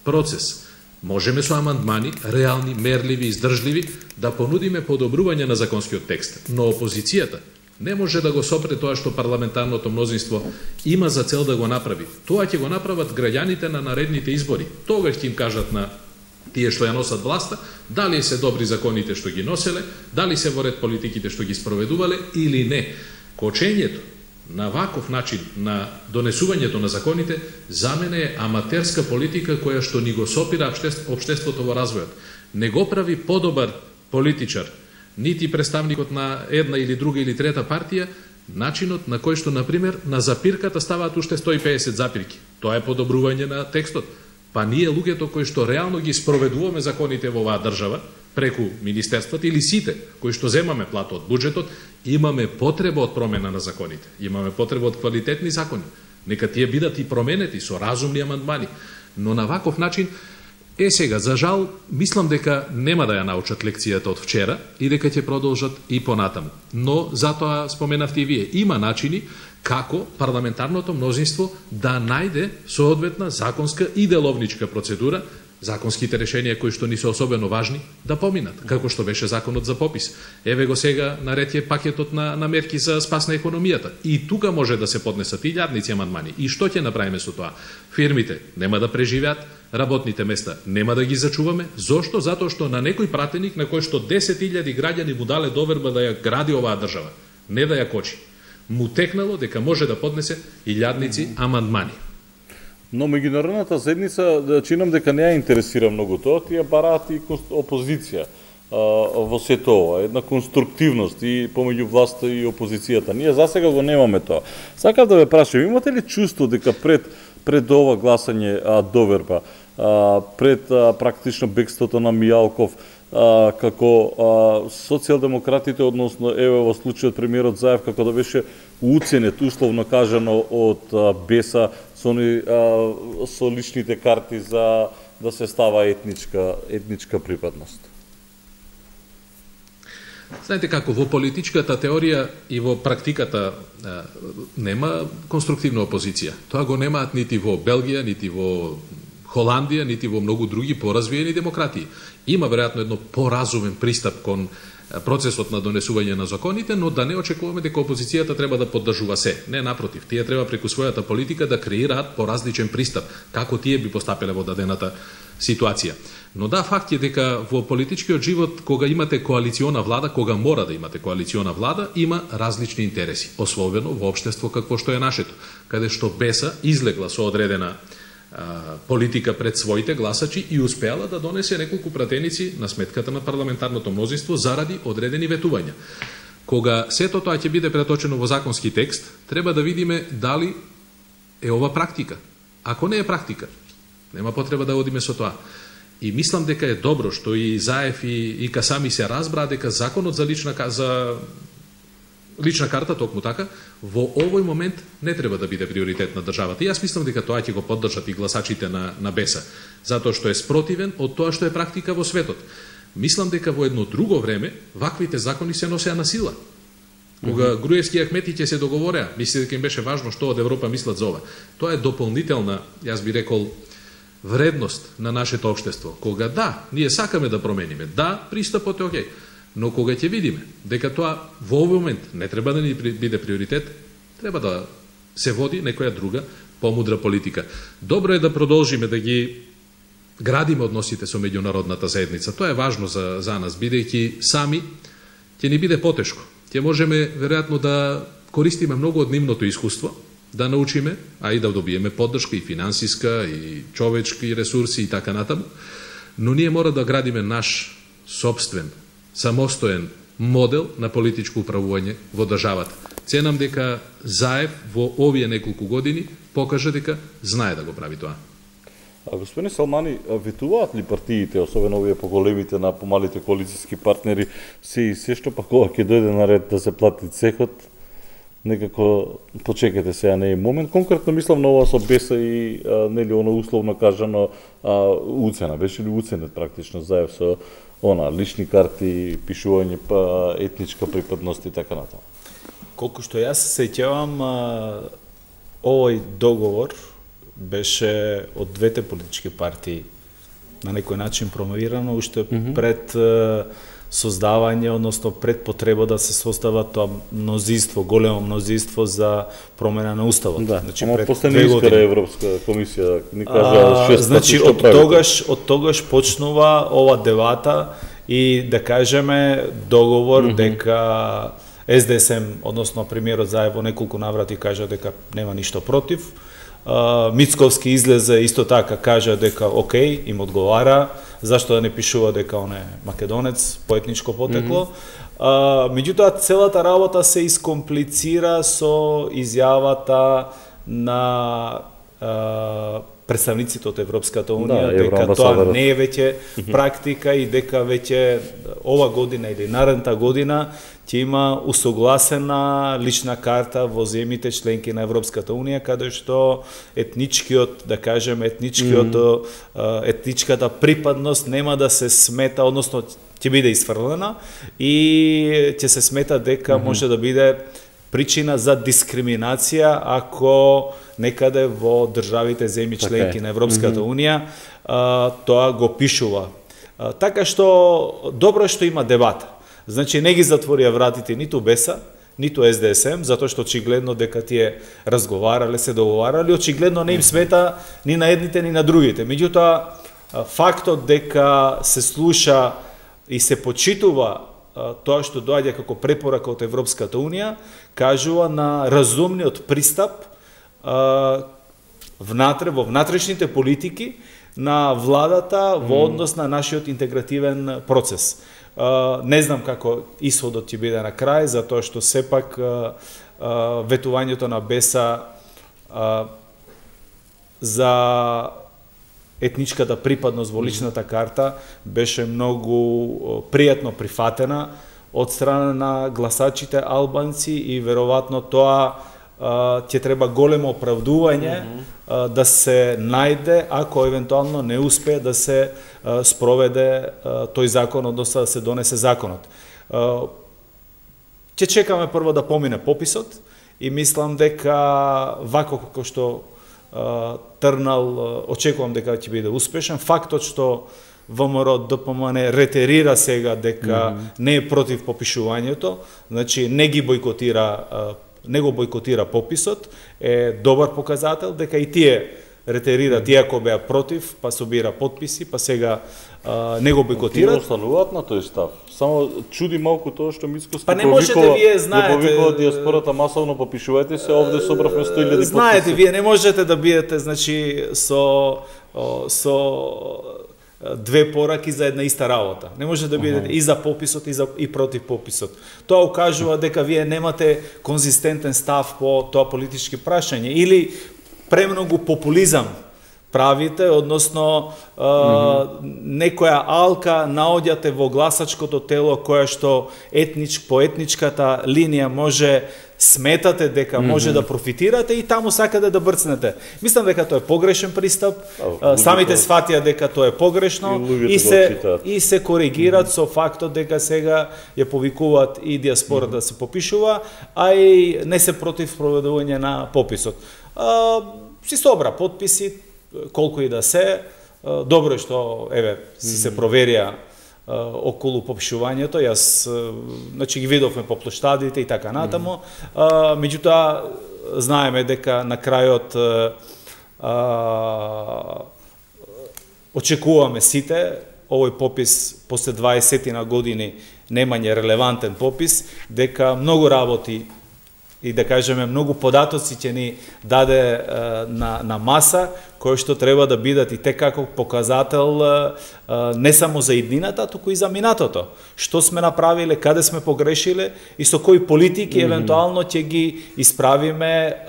процес, можеме со амандмани, реални, мерливи, издржливи, да понудиме подобрување на законскиот текст. Но опозицијата не може да го сопре тоа што парламентарното мнозинство има за цел да го направи. Тоа ќе го направат граѓаните на наредните избори. Тогаш ќе им кажат на тие што ја носат власта, дали се добри законите што ги носеле, дали се во ред политиките што ги спроведувале или не. Кочењето на ваков начин на донесувањето на законите за мене е аматерска политика која што ни го сопира општеството во развојот. Не го прави подобар политичар, нити представникот на една или друга или трета партија, начинот на кој што, например, на запирката ставаат уште 150 запирки. Тоа е подобрување на текстот. Па ние луѓето кои што реално ги спроведуваме законите во оваа држава, преку министерствата или сите кои што земаме плата од буџетот, имаме потреба од промена на законите. Имаме потреба од квалитетни закони. Нека тие бидат и променети со разумни амандмани. Но на ваков начин, сега, за жал, мислам дека нема да ја научат лекцијата од вчера и дека ќе продолжат и понатаму. Но, затоа споменавте и вие, има начини како парламентарното мнозинство да најде соодветна законска и деловничка процедура, законските решенија кои што ни се особено важни да поминат, како што беше законот за попис. Еве го сега наред е пакетот на мерки за спас на економијата. И тука може да се поднесат илјадници амандмани. И што ќе направиме со тоа? Фирмите нема да преживеат, работните места нема да ги зачуваме. Зошто? Затоа што на некој пратеник на кој што 10.000 граѓани му дале доверба да ја гради оваа држава, не да ја кочи, му текнало дека може да поднесе илјадници амандмани. Но меѓународната заедница чинам дека не ја интересира многу тоа, тие бараат и опозиција во сето ова, една конструктивност и помеѓу власта и опозицијата. Ние засега го немаме тоа. Сакав да ве прашам, имате ли чувство дека пред ова гласање доверба, пред практично бегството на Мијалков, како социјалдемократите, односно еве во случајот премиерот Заев, како да беше уценет, условно кажано, од Беса со личните карти за да се става етничка припадност? Знаете како, во политичката теорија и во практиката нема конструктивна опозиција. Тоа го немаат нити во Белгија, нити во Холандија, нити во многу други поразвиени демократии. Има веројатно едно поразумен пристап кон процесот на донесување на законите, но да не очекуваме дека опозицијата треба да поддржува се. Не, напротив, тие треба преку својата политика да креираат поразличен пристап, како тие би постапеле во дадената ситуација. Но да, факт е дека во политичкиот живот, кога имате коалициона влада, кога мора да имате коалициона влада, има различни интереси, особено во општество какво што е нашето, каде што Беса излегла со одредена политика пред своите гласачи и успеала да донесе неколку пратеници на сметката на парламентарното мнозинство заради одредени ветувања. Кога сето тоа ќе биде преточено во законски текст, треба да видиме дали е ова практика. Ако не е практика, нема потреба да одиме со тоа. И мислам дека е добро што и Заев и Касами се разбраа дека законот за лична карта, токму така, во овој момент не треба да биде приоритет на државата. И јас мислам дека тоа ќе го поддржат и гласачите на Беса, затоа што е спротивен од тоа што е практика во светот. Мислам дека во едно друго време ваквите закони се носеа на сила. Кога Груевски и Ахмети ќе се договореа, мисли дека им беше важно што од Европа мислат за ова. Тоа е дополнителна, јас би рекол, вредност на нашето општество. Кога да, ние сакаме да промениме, да, пристапот е окей. Но кога ќе видиме дека тоа во овој момент не треба да ни биде приоритет, треба да се води некоја друга помудра политика. Добро е да продолжиме да ги градиме односите со меѓународната заедница. Тоа е важно за нас, бидејќи сами ќе ни биде потешко. Ќе можеме веројатно да користиме многу од нивното искуство, да научиме, а и да добиеме поддршка и финансиска, и човечки ресурси и така натаму. Но ние мора да градиме наш собствен, самостоен модел на политичко управување во државата. Ценам дека Заев во овие неколку години покажа дека знае да го прави тоа. А господин Салмани, ветуваат ли партиите, особено овие поголемите на помалите коалициски партнери, се што па кога ќе дојде на ред да се плати цехот, некако почекате сега не е момент. Конкретно мислам на ова со Беса и нели оно условно кажано уцена. Беше ли уценет практично Заев со лични карти, пишување па етничка припадност и така натаму? Колку што јас се сеќавам, овој договор беше од двете политички партии на некој начин промовирано уште пред создавање, односно пред потреба да се состава тоа мнозинство, големо мнозинство за промена на уставот. Да, значи пред последни искара Европска комисија ни кажа 6 значи од тогаш почнува ова дебата и да кажеме договор дека СДСМ, односно премиерот Заев во неколку наврати кажа дека нема ништо против. Мицковски излезе исто така кажа дека окей, им одговара, зашто да не пишува дека он е македонец по етничко потекло. Меѓутоа целата работа се искомплицира со изјавата на представниците од Европската унија, дека тоа не е веќе практика и дека веќе ова година или наредната година ќе има усогласена лична карта во земјите членки на Европската унија, каде што етничкиот, да кажем, етничката припадност нема да се смета, односно ќе биде исфрлена и ќе се смета дека може да биде причина за дискриминација ако некаде во државите земји членки на Европската унија тоа го пишува. Така што добро што има дебата. Значи не ги затворија вратите ниту Беса, ниту СДСМ, затоа што очигледно дека тие разговарале, се договарале, очигледно не им смета ни на едните ни на другите. Меѓутоа фактот дека се слуша и се почитува тоа што доаѓа како препорака од Европската унија, кажува на разумниот пристап внатре во внатрешните политики на владата во однос на нашиот интегративен процес. Не знам како исходот ќе биде на крај, затоа што сепак ветувањето на Беса за етничката припадност во личната карта беше многу пријатно прифатена од страна на гласачите албанци и веројатно тоа ќе треба големо оправдување да се најде ако евентуално не успее да се спроведе тој закон, односно да се донесе законот. Ќе чекаме прво да помине пописот и мислам дека вако како што трнал, очекувам дека ќе биде успешен. Фактот што ВМРО ДПМН ретерира сега дека не е против попишувањето, значи не го бойкотира пописот, е добар показател дека и тие ретерираат, иако беа против, па собира подписи, па сега не го бойкотираат. Тие остануваат на тој став. Само чуди малку тоа што Мицковски повикува диаспората масовно попишувајте се, овде собравме 100.000 подписи. Знаете, вие не можете да бидете, значи, со две пораки за една иста работа. Не може да бидете и за пописот и против пописот. Тоа укажува дека вие немате конзистентен став по тоа политички прашање или премногу популизам правите, односно некоја алка наоѓате во гласачкото тело која што по етничката линија може сметате дека може да профитирате и таму сакате да брцнете. Мислам дека тоа е погрешен пристап, самите сватија дека тоа е погрешно и се коригираат со фактот дека сега ја повикуваат и диаспора да се попишува, а и не се против проведување на пописот. Си собра подписи, колку и да се, добро е што си се проверија околу попишувањето, јас значи ги видовме по плоштадите и така натаму, меѓутоа знаеме дека на крајот очекуваме сите овој попис после 20 на години немање релевантен попис, дека многу работи и да кажеме многу податоци ќе ни даде на маса кои што треба да бидат и те како показател не само за иднината, туку и за минатото. Што сме направиле, каде сме погрешиле и со кои политики евентуално ќе ги исправиме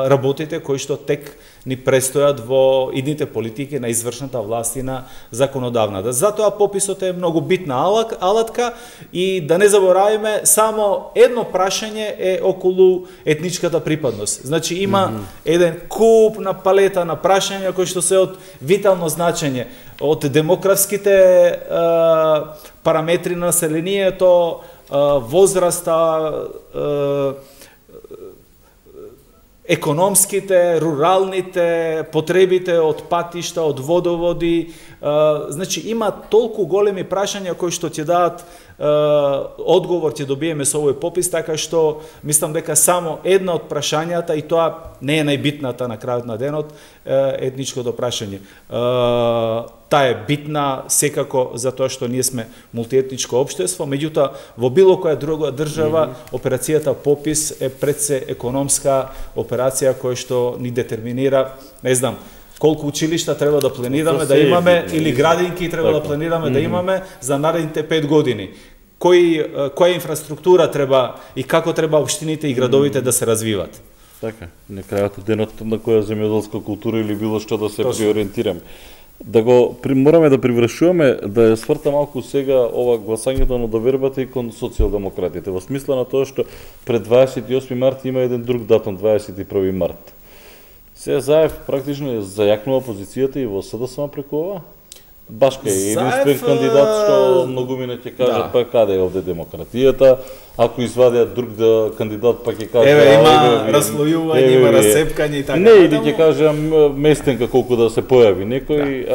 работите кои што тек ни престојат во идните политики на извршната власт и на законодавната. Затоа пописот е многу битна алатка и да не заборавиме, само едно прашање е околу етничката припадност. Значи има еден куп на палета на прашања кои што се од витално значење, од демографските параметри на населението, возраста, економските, руралните, потребите од патишта, од водоводи. Значи има толку големи прашања кои што ќе дадат одговор, ќе добиеме со овој попис, така што мислам дека само една од прашањата, и тоа не е најбитната на крајот на денот, етничкото прашање. Таа е битна секако затоа што ние сме мултиетничко општество, меѓутоа во било која друга држава операцијата попис е пред се економска операција која што ни детерминира, не знам, колку училишта треба да планираме да имаме или градинки треба да планираме да имаме за наредните 5 години. Која инфраструктура треба и како треба општините и градовите да се развиват. Така, на крајот од денот на која земјоделска култура или било што да се приориентираме. Да го мораме да привршуваме, да ја сврта малку сега ова гласањето на довербата и кон социјалдемократите, во смисла на тоа што пред 28 март има еден друг датум, 21 март. Сега Заев практично е зајакнува позицијата и во СДСМ преку ова? Башка е единствен кандидат што многумина ќе кажат па каде е овде демократијата, ако извадиат друг кандидат па ќе кажат има разслојување, има расцепкање и така. Не, или ќе кажам местенка колку да се појави некој.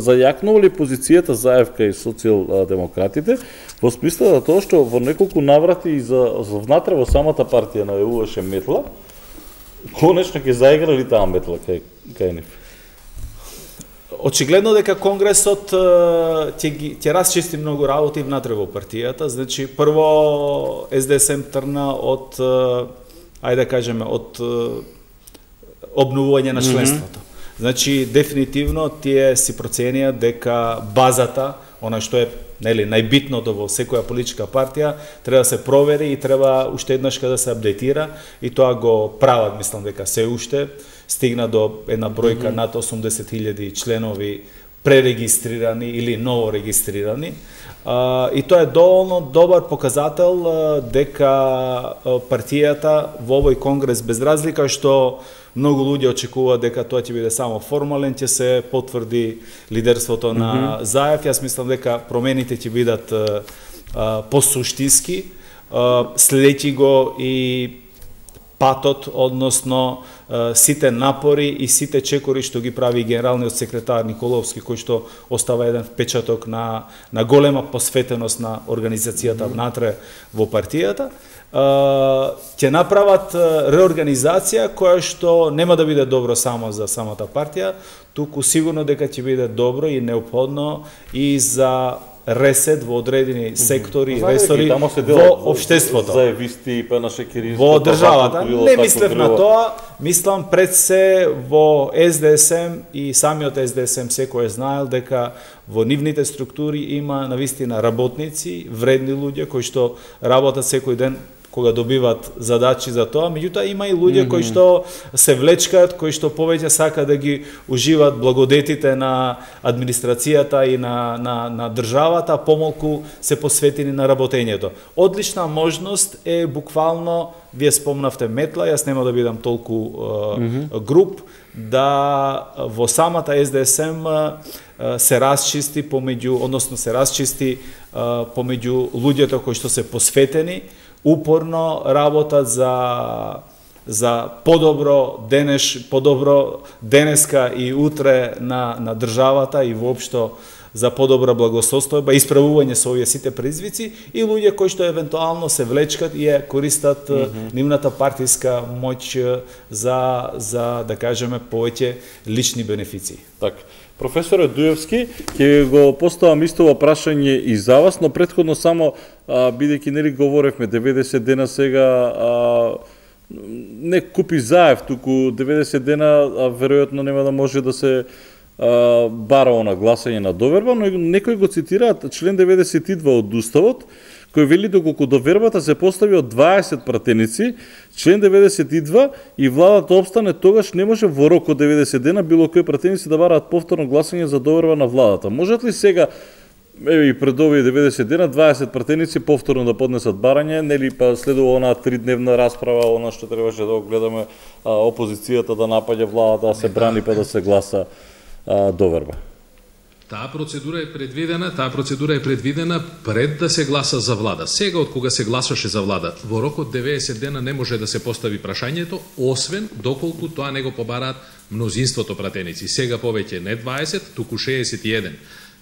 Зајакнува ли позицијата Заевка и социјалдемократите во смисла да тоа што во неколку наврати и за внатре во самата партија на ЕУ-ше метла, конечно ќе заиграли таа метла кај нив. Очигледно дека Конгресот ќе расчисти многу работи внатре во партијата. Значи, прво СДСМ трна од, ајде да кажеме, од обновување на членството. Значи, дефинитивно тие си проценија дека базата, она што е најбитното во секоја политичка партија, треба да се провери и треба уште еднашка да се апдейтира и тоа го прават, мислам дека се уште стигна до една бројка над 80.000 членови пререгистрирани или ново регистрирани. И тоа е доволно добар показател дека партијата во овој конгрес, без разлика што многу луѓе очекуваат дека тоа ќе биде само формален, ќе се потврди лидерството на Заев. Јас мислам дека промените ќе бидат посуштински, следејќи го и патот, односно сите напори и сите чекори што ги прави генералниот секретар Николовски, кој што остава еден впечаток на голема посветеност на организацијата внатре во партијата, ќе направат реорганизација која што нема да биде добро само за самата партија, туку сигурно дека ќе биде добро и неопходно и за ресет во одредени сектори и ресори во општеството. Заевисти, па на шекери, во државата. Не мислев на тоа, мислам пред се во СДСМ и самиот СДСМ секој е знаел дека во нивните структури има навистина работници, вредни луѓе кои што работат секој ден кога добиват задачи за тоа, меѓутоа има и луѓе кои што се влечкаат, кои што повеќе сака да ги уживат благодетите на администрацијата и на државата, помалку се посветени на работењето. Одлична можност е буквално, вие спомнавте метла, јас нема да бидам толку груп, да во самата СДСМ се расчисти помеѓу, односно се расчисти помеѓу луѓето кои што се посветени, упорно работат за подобро денеска и утре на државата и воопшто за подобра благосостојба, исправување со овие сите предизвици и луѓе кои што евентуално се влечкат и ја користат нивната партиска моќ за да кажеме повеќе лични бенефиции. Така. Професоре Дуевски, ќе го поставам истово прашање и за вас, но претходно само, бидејќи нели говоревме 90 дена сега, не купи Заев, туку 90 дена веројатно нема да може да се бара на гласање на доверба, но некои го цитираат член 92 од Уставот, кој вели доколку довербата се постави од 20 пратеници, член 92 и владата обстане, тогаш не може во рок од 90 дена било кои пратеници да бараат повторно гласање за доверба на владата. Можат ли сега и пред овие 90 дена 20 пратеници повторно да поднесат барање, нели па следува онаа 3-дневна расправа, она што требаше да го гледаме, опозицијата да напаѓа владата, да се брани па да се гласа доверба. Таа процедура е предвидена пред да се гласа за влада. Сега од кога се гласаше за влада, во рок од 90 дена не може да се постави прашањето, освен доколку тоа не го побараат мнозинството пратеници. Сега повеќе не 20, туку 61.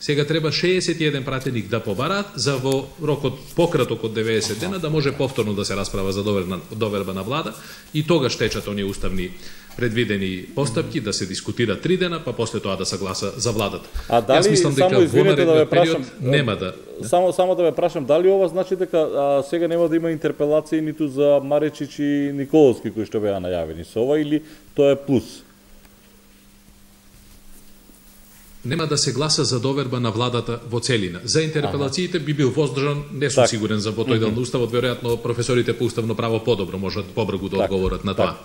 Сега треба 61 пратеник да побараат за во рокот пократок од 90 дена да може повторно да се расправа за доверба на влада и тогаш течат оние уставни предвидени постапки да се дискутира 3 дена, па после тоа да се гласа за владата. А дали, јас мислам дека во наредниот период нема да... Само да ве прашам, дали ова значи дека сега нема да има интерпелации ниту за Маречич и Николовски кои што беа најавени со ова, или тоа е плюс? Нема да се гласа за доверба на владата во целина. За интерпелациите би бил воздржан, не сум сигурен за тој дел на Уставот, веројатно професорите по уставно право подобро можат побрзо да одговорат на тоа.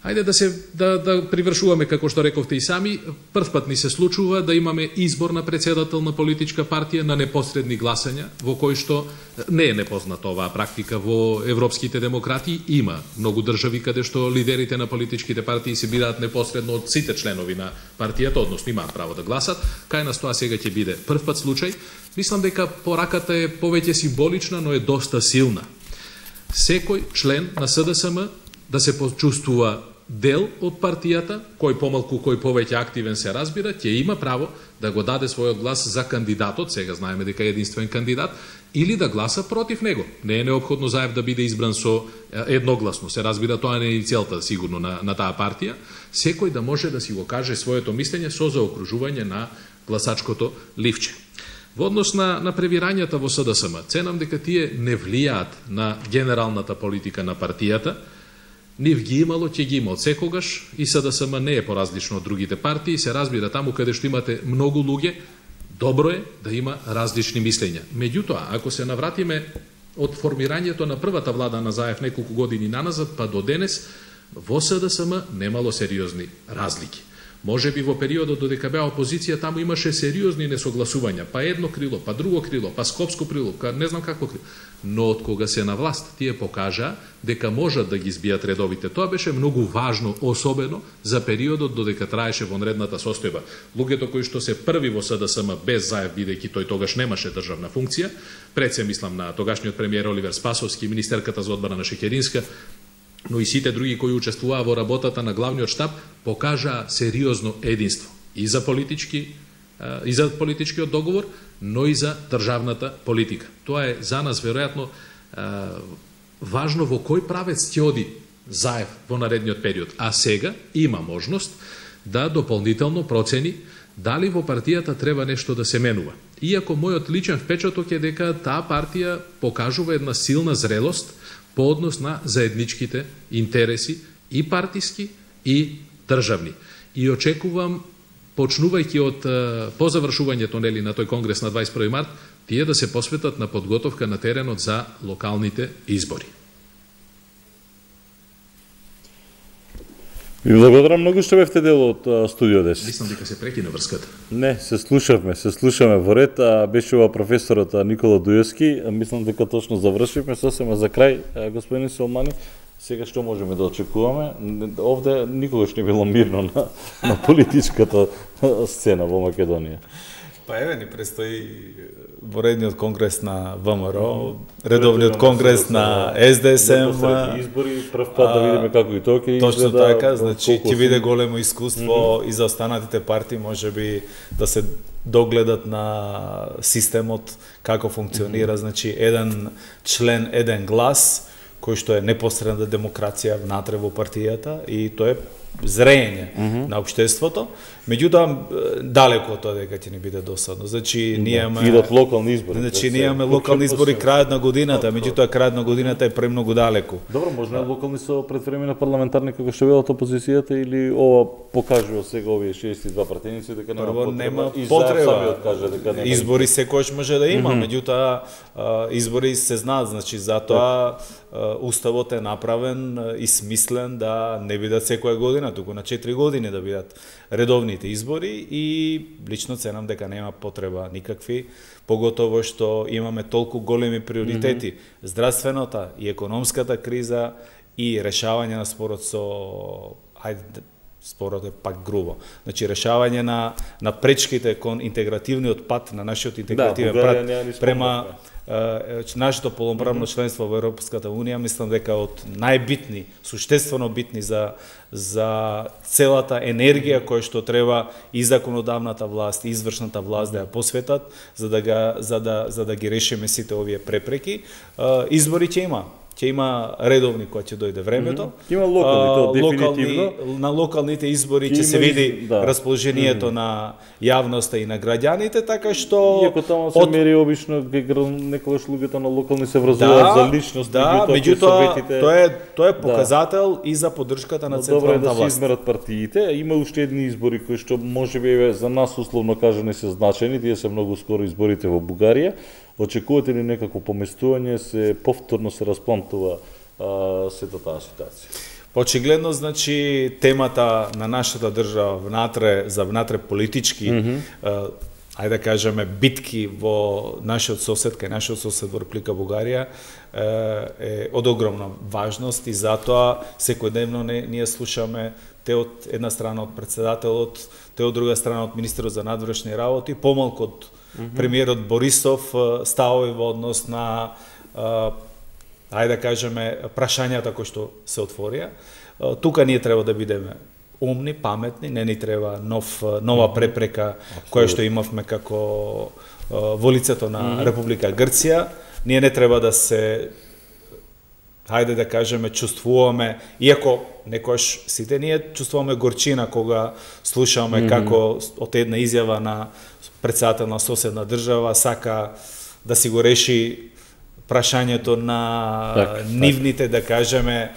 Ајде да привршуваме, како што рековте и сами, првпат ни се случува да имаме избор на председател на политичка партија на непосредни гласања, во кој што не е непозната оваа практика во европските демократии. Има многу држави каде што лидерите на политичките партии се бираат непосредно од сите членови на партијата, односно имаат право да гласат. Кај нас тоа сега ќе биде првпат случај. Мислам дека пораката е повеќе символична, но е доста силна. Секој член на СДСМ да се почувствува дел од партијата, кој помалку, кој повеќе активен се разбира, ќе има право да го даде својот глас за кандидатот, сега знаеме дека е единствен кандидат, или да гласа против него. Не е неопходно Заев да биде избран со едногласно. Се разбира, тоа не е целта сигурно на таа партија. Секој да може да си го каже своето мислење со заокружување на гласачкото ливче. Во однос на превирањата во СДСМ, ценам дека тие не влијаат на генералната политика на партијата. Нив ги имало, ќе ги има од секогаш, и СДСМ не е поразлично од другите партии. Се разбира, таму каде што имате многу луѓе, добро е да има различни мислења. Меѓутоа, ако се навратиме од формирањето на првата влада на Заев неколку години наназад, па до денес, во СДСМ немало сериозни разлики. Може би во периодот додека беа опозиција, таму имаше сериозни несогласувања, па едно крило, па друго крило, па скопско крило, не знам какво крило. Но од кога се на власт, тие покажаа дека можат да ги избијат редовите. Тоа беше многу важно, особено за периодот додека траеше вонредната состојба. Луѓето кои што се први во СДСМ без Заев, бидејќи тој тогаш немаше државна функција, пред се мислам на тогашниот премиер Оливер Спасовски, министерката за одбрана Шекеринска, но и сите други кои учествуваа во работата на главниот штаб, покажаа сериозно единство и за политичкиот договор, но и за државната политика. Тоа е за нас веројатно важно во кој правец ќе оди Заев во наредниот период. А сега има можност да дополнително процени дали во партијата треба нешто да се менува. Иако мојот личен впечаток е дека таа партија покажува една силна зрелост по однос на заедничките интереси и партиски и државни. И очекувам, почнувајќи од по завршувањето на тој конгрес на 21 март, тие да се посветат на подготовка на теренот за локалните избори. Ви благодарам многу што бевте дел од Студио 10. Мислам дека се прекина врската. Не, се слушаме во ред. Беше ова професорот Никола Дујовски. Мислам дека точно завршивме сосема за крај, господин Селмани. Сега што можеме да очекуваме? Овде никогаш не било мирно на политичката сцена во Македонија. Па еве ни престои воредниот конгрес на ВМРО, редовниот конгрес на СДСМ, избори, прв пат да видиме како и тоа ќе изгледа. Точно така, значи ќе биде големо искуство и за останатите партии, можеби да се догледат на системот како функционира, значи еден член, еден глас, кој што е непосредна демокрација внатре во партијата, и тоа е зрење на општеството, меѓутоа далеко од тоа дека ќе ни биде досадно. Значи ние имаме идат локални избори. Значи ние имаме локални избори крајот на годината, меѓутоа крајот на годината е премногу далеку. Добро, може локални со предвремени парламентарни како што велат опозицијата или ова покажува сега овие 62 пратеници дека нема потреба. Избори секогаш може да има, меѓутоа избори се знаат, значи затоа уставот е направен и смислен да не бидат секоја година, туку на 4 години да бидат редовните избори и лично ценам дека нема потреба никакви, поготово што имаме толку големи приоритети, здравствената и економската криза и решавање на спорот со спорот е пак грубо. Значи решавање на пречките кон интегративниот пат на нашиот интегративен пат према нашето полноправно членство во Европската унија, мислам дека од најбитни, суштествено битни за целата енергија која што треба и законодавната власт, и извршната власт да ја посветат за да ги решиме сите овие препреки. Избори ќе има. Ќе има редовни кога ќе дојде времето. Има локални, дефинитивно. На локалните избори ќе се види расположението на јавноста и на граѓаните, така што иако таму се мери обично некогаш луѓето на локални се врзуваат за личност, меѓутоа тоа е показател и за поддршката на централната власт. Добро е да се измерат партиите, има уште едни избори кои што можеби за нас условно кажани се значени, тие се многу скоро изборите во Бугарија. Очекувате ли некако поместување, се повторно се расплантува сета таа ситуација? Очигледно, значи, темата на нашата држава внатре политички, ајде да кажеме, битки во нашиот сосед, кај нашиот сосед во Република Бугарија, е од огромна важност и затоа секојдневно ние слушаме те од една страна од председателот, те од друга страна од министерот за надвршни работи, помалку од премиерот Борисов ставови во однос на ајде да кажеме прашањата кои што се отворија. Тука ние треба да бидеме умни, паметни, не ни треба нова препрека која што имавме како во лицето на Република Грција. Ние не треба да се ајде да кажеме чувствуваме, иако некојаш сите ние чувствуваме горчина кога слушаме како од една изјава на председател на соседна држава сака да си го реши прашањето на нивните, да кажеме,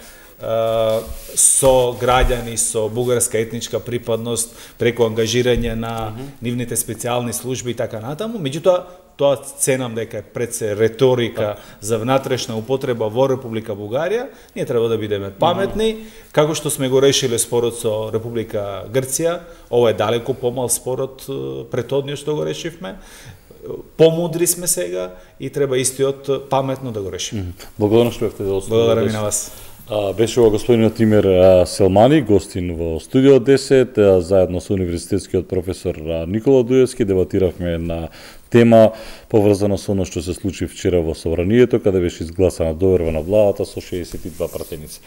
со граѓани со бугарска етничка припадност преку ангажирање на нивните специјални служби и така натаму. Меѓутоа, тоа ценам дека е пред се риторика за внатрешна употреба во Република Бугарија. Ние треба да бидеме паметни, како што сме го решиле спорот со Република Грција. Ова е далеку помал спорот претhodниот што го решивме. Помудри сме сега и треба истиот паметно да го решиме. Благодарам што бевте да Благодарам и на вас. Беше ова господинот Тимер Селмани, гостин во Студио 10, заедно со универзитетскиот професор Никола Дуевски, дебатиравме на тема поврзана со оно што се случи вчера во Собранието, каде беше изгласана доверба на владата со 62 пратеници.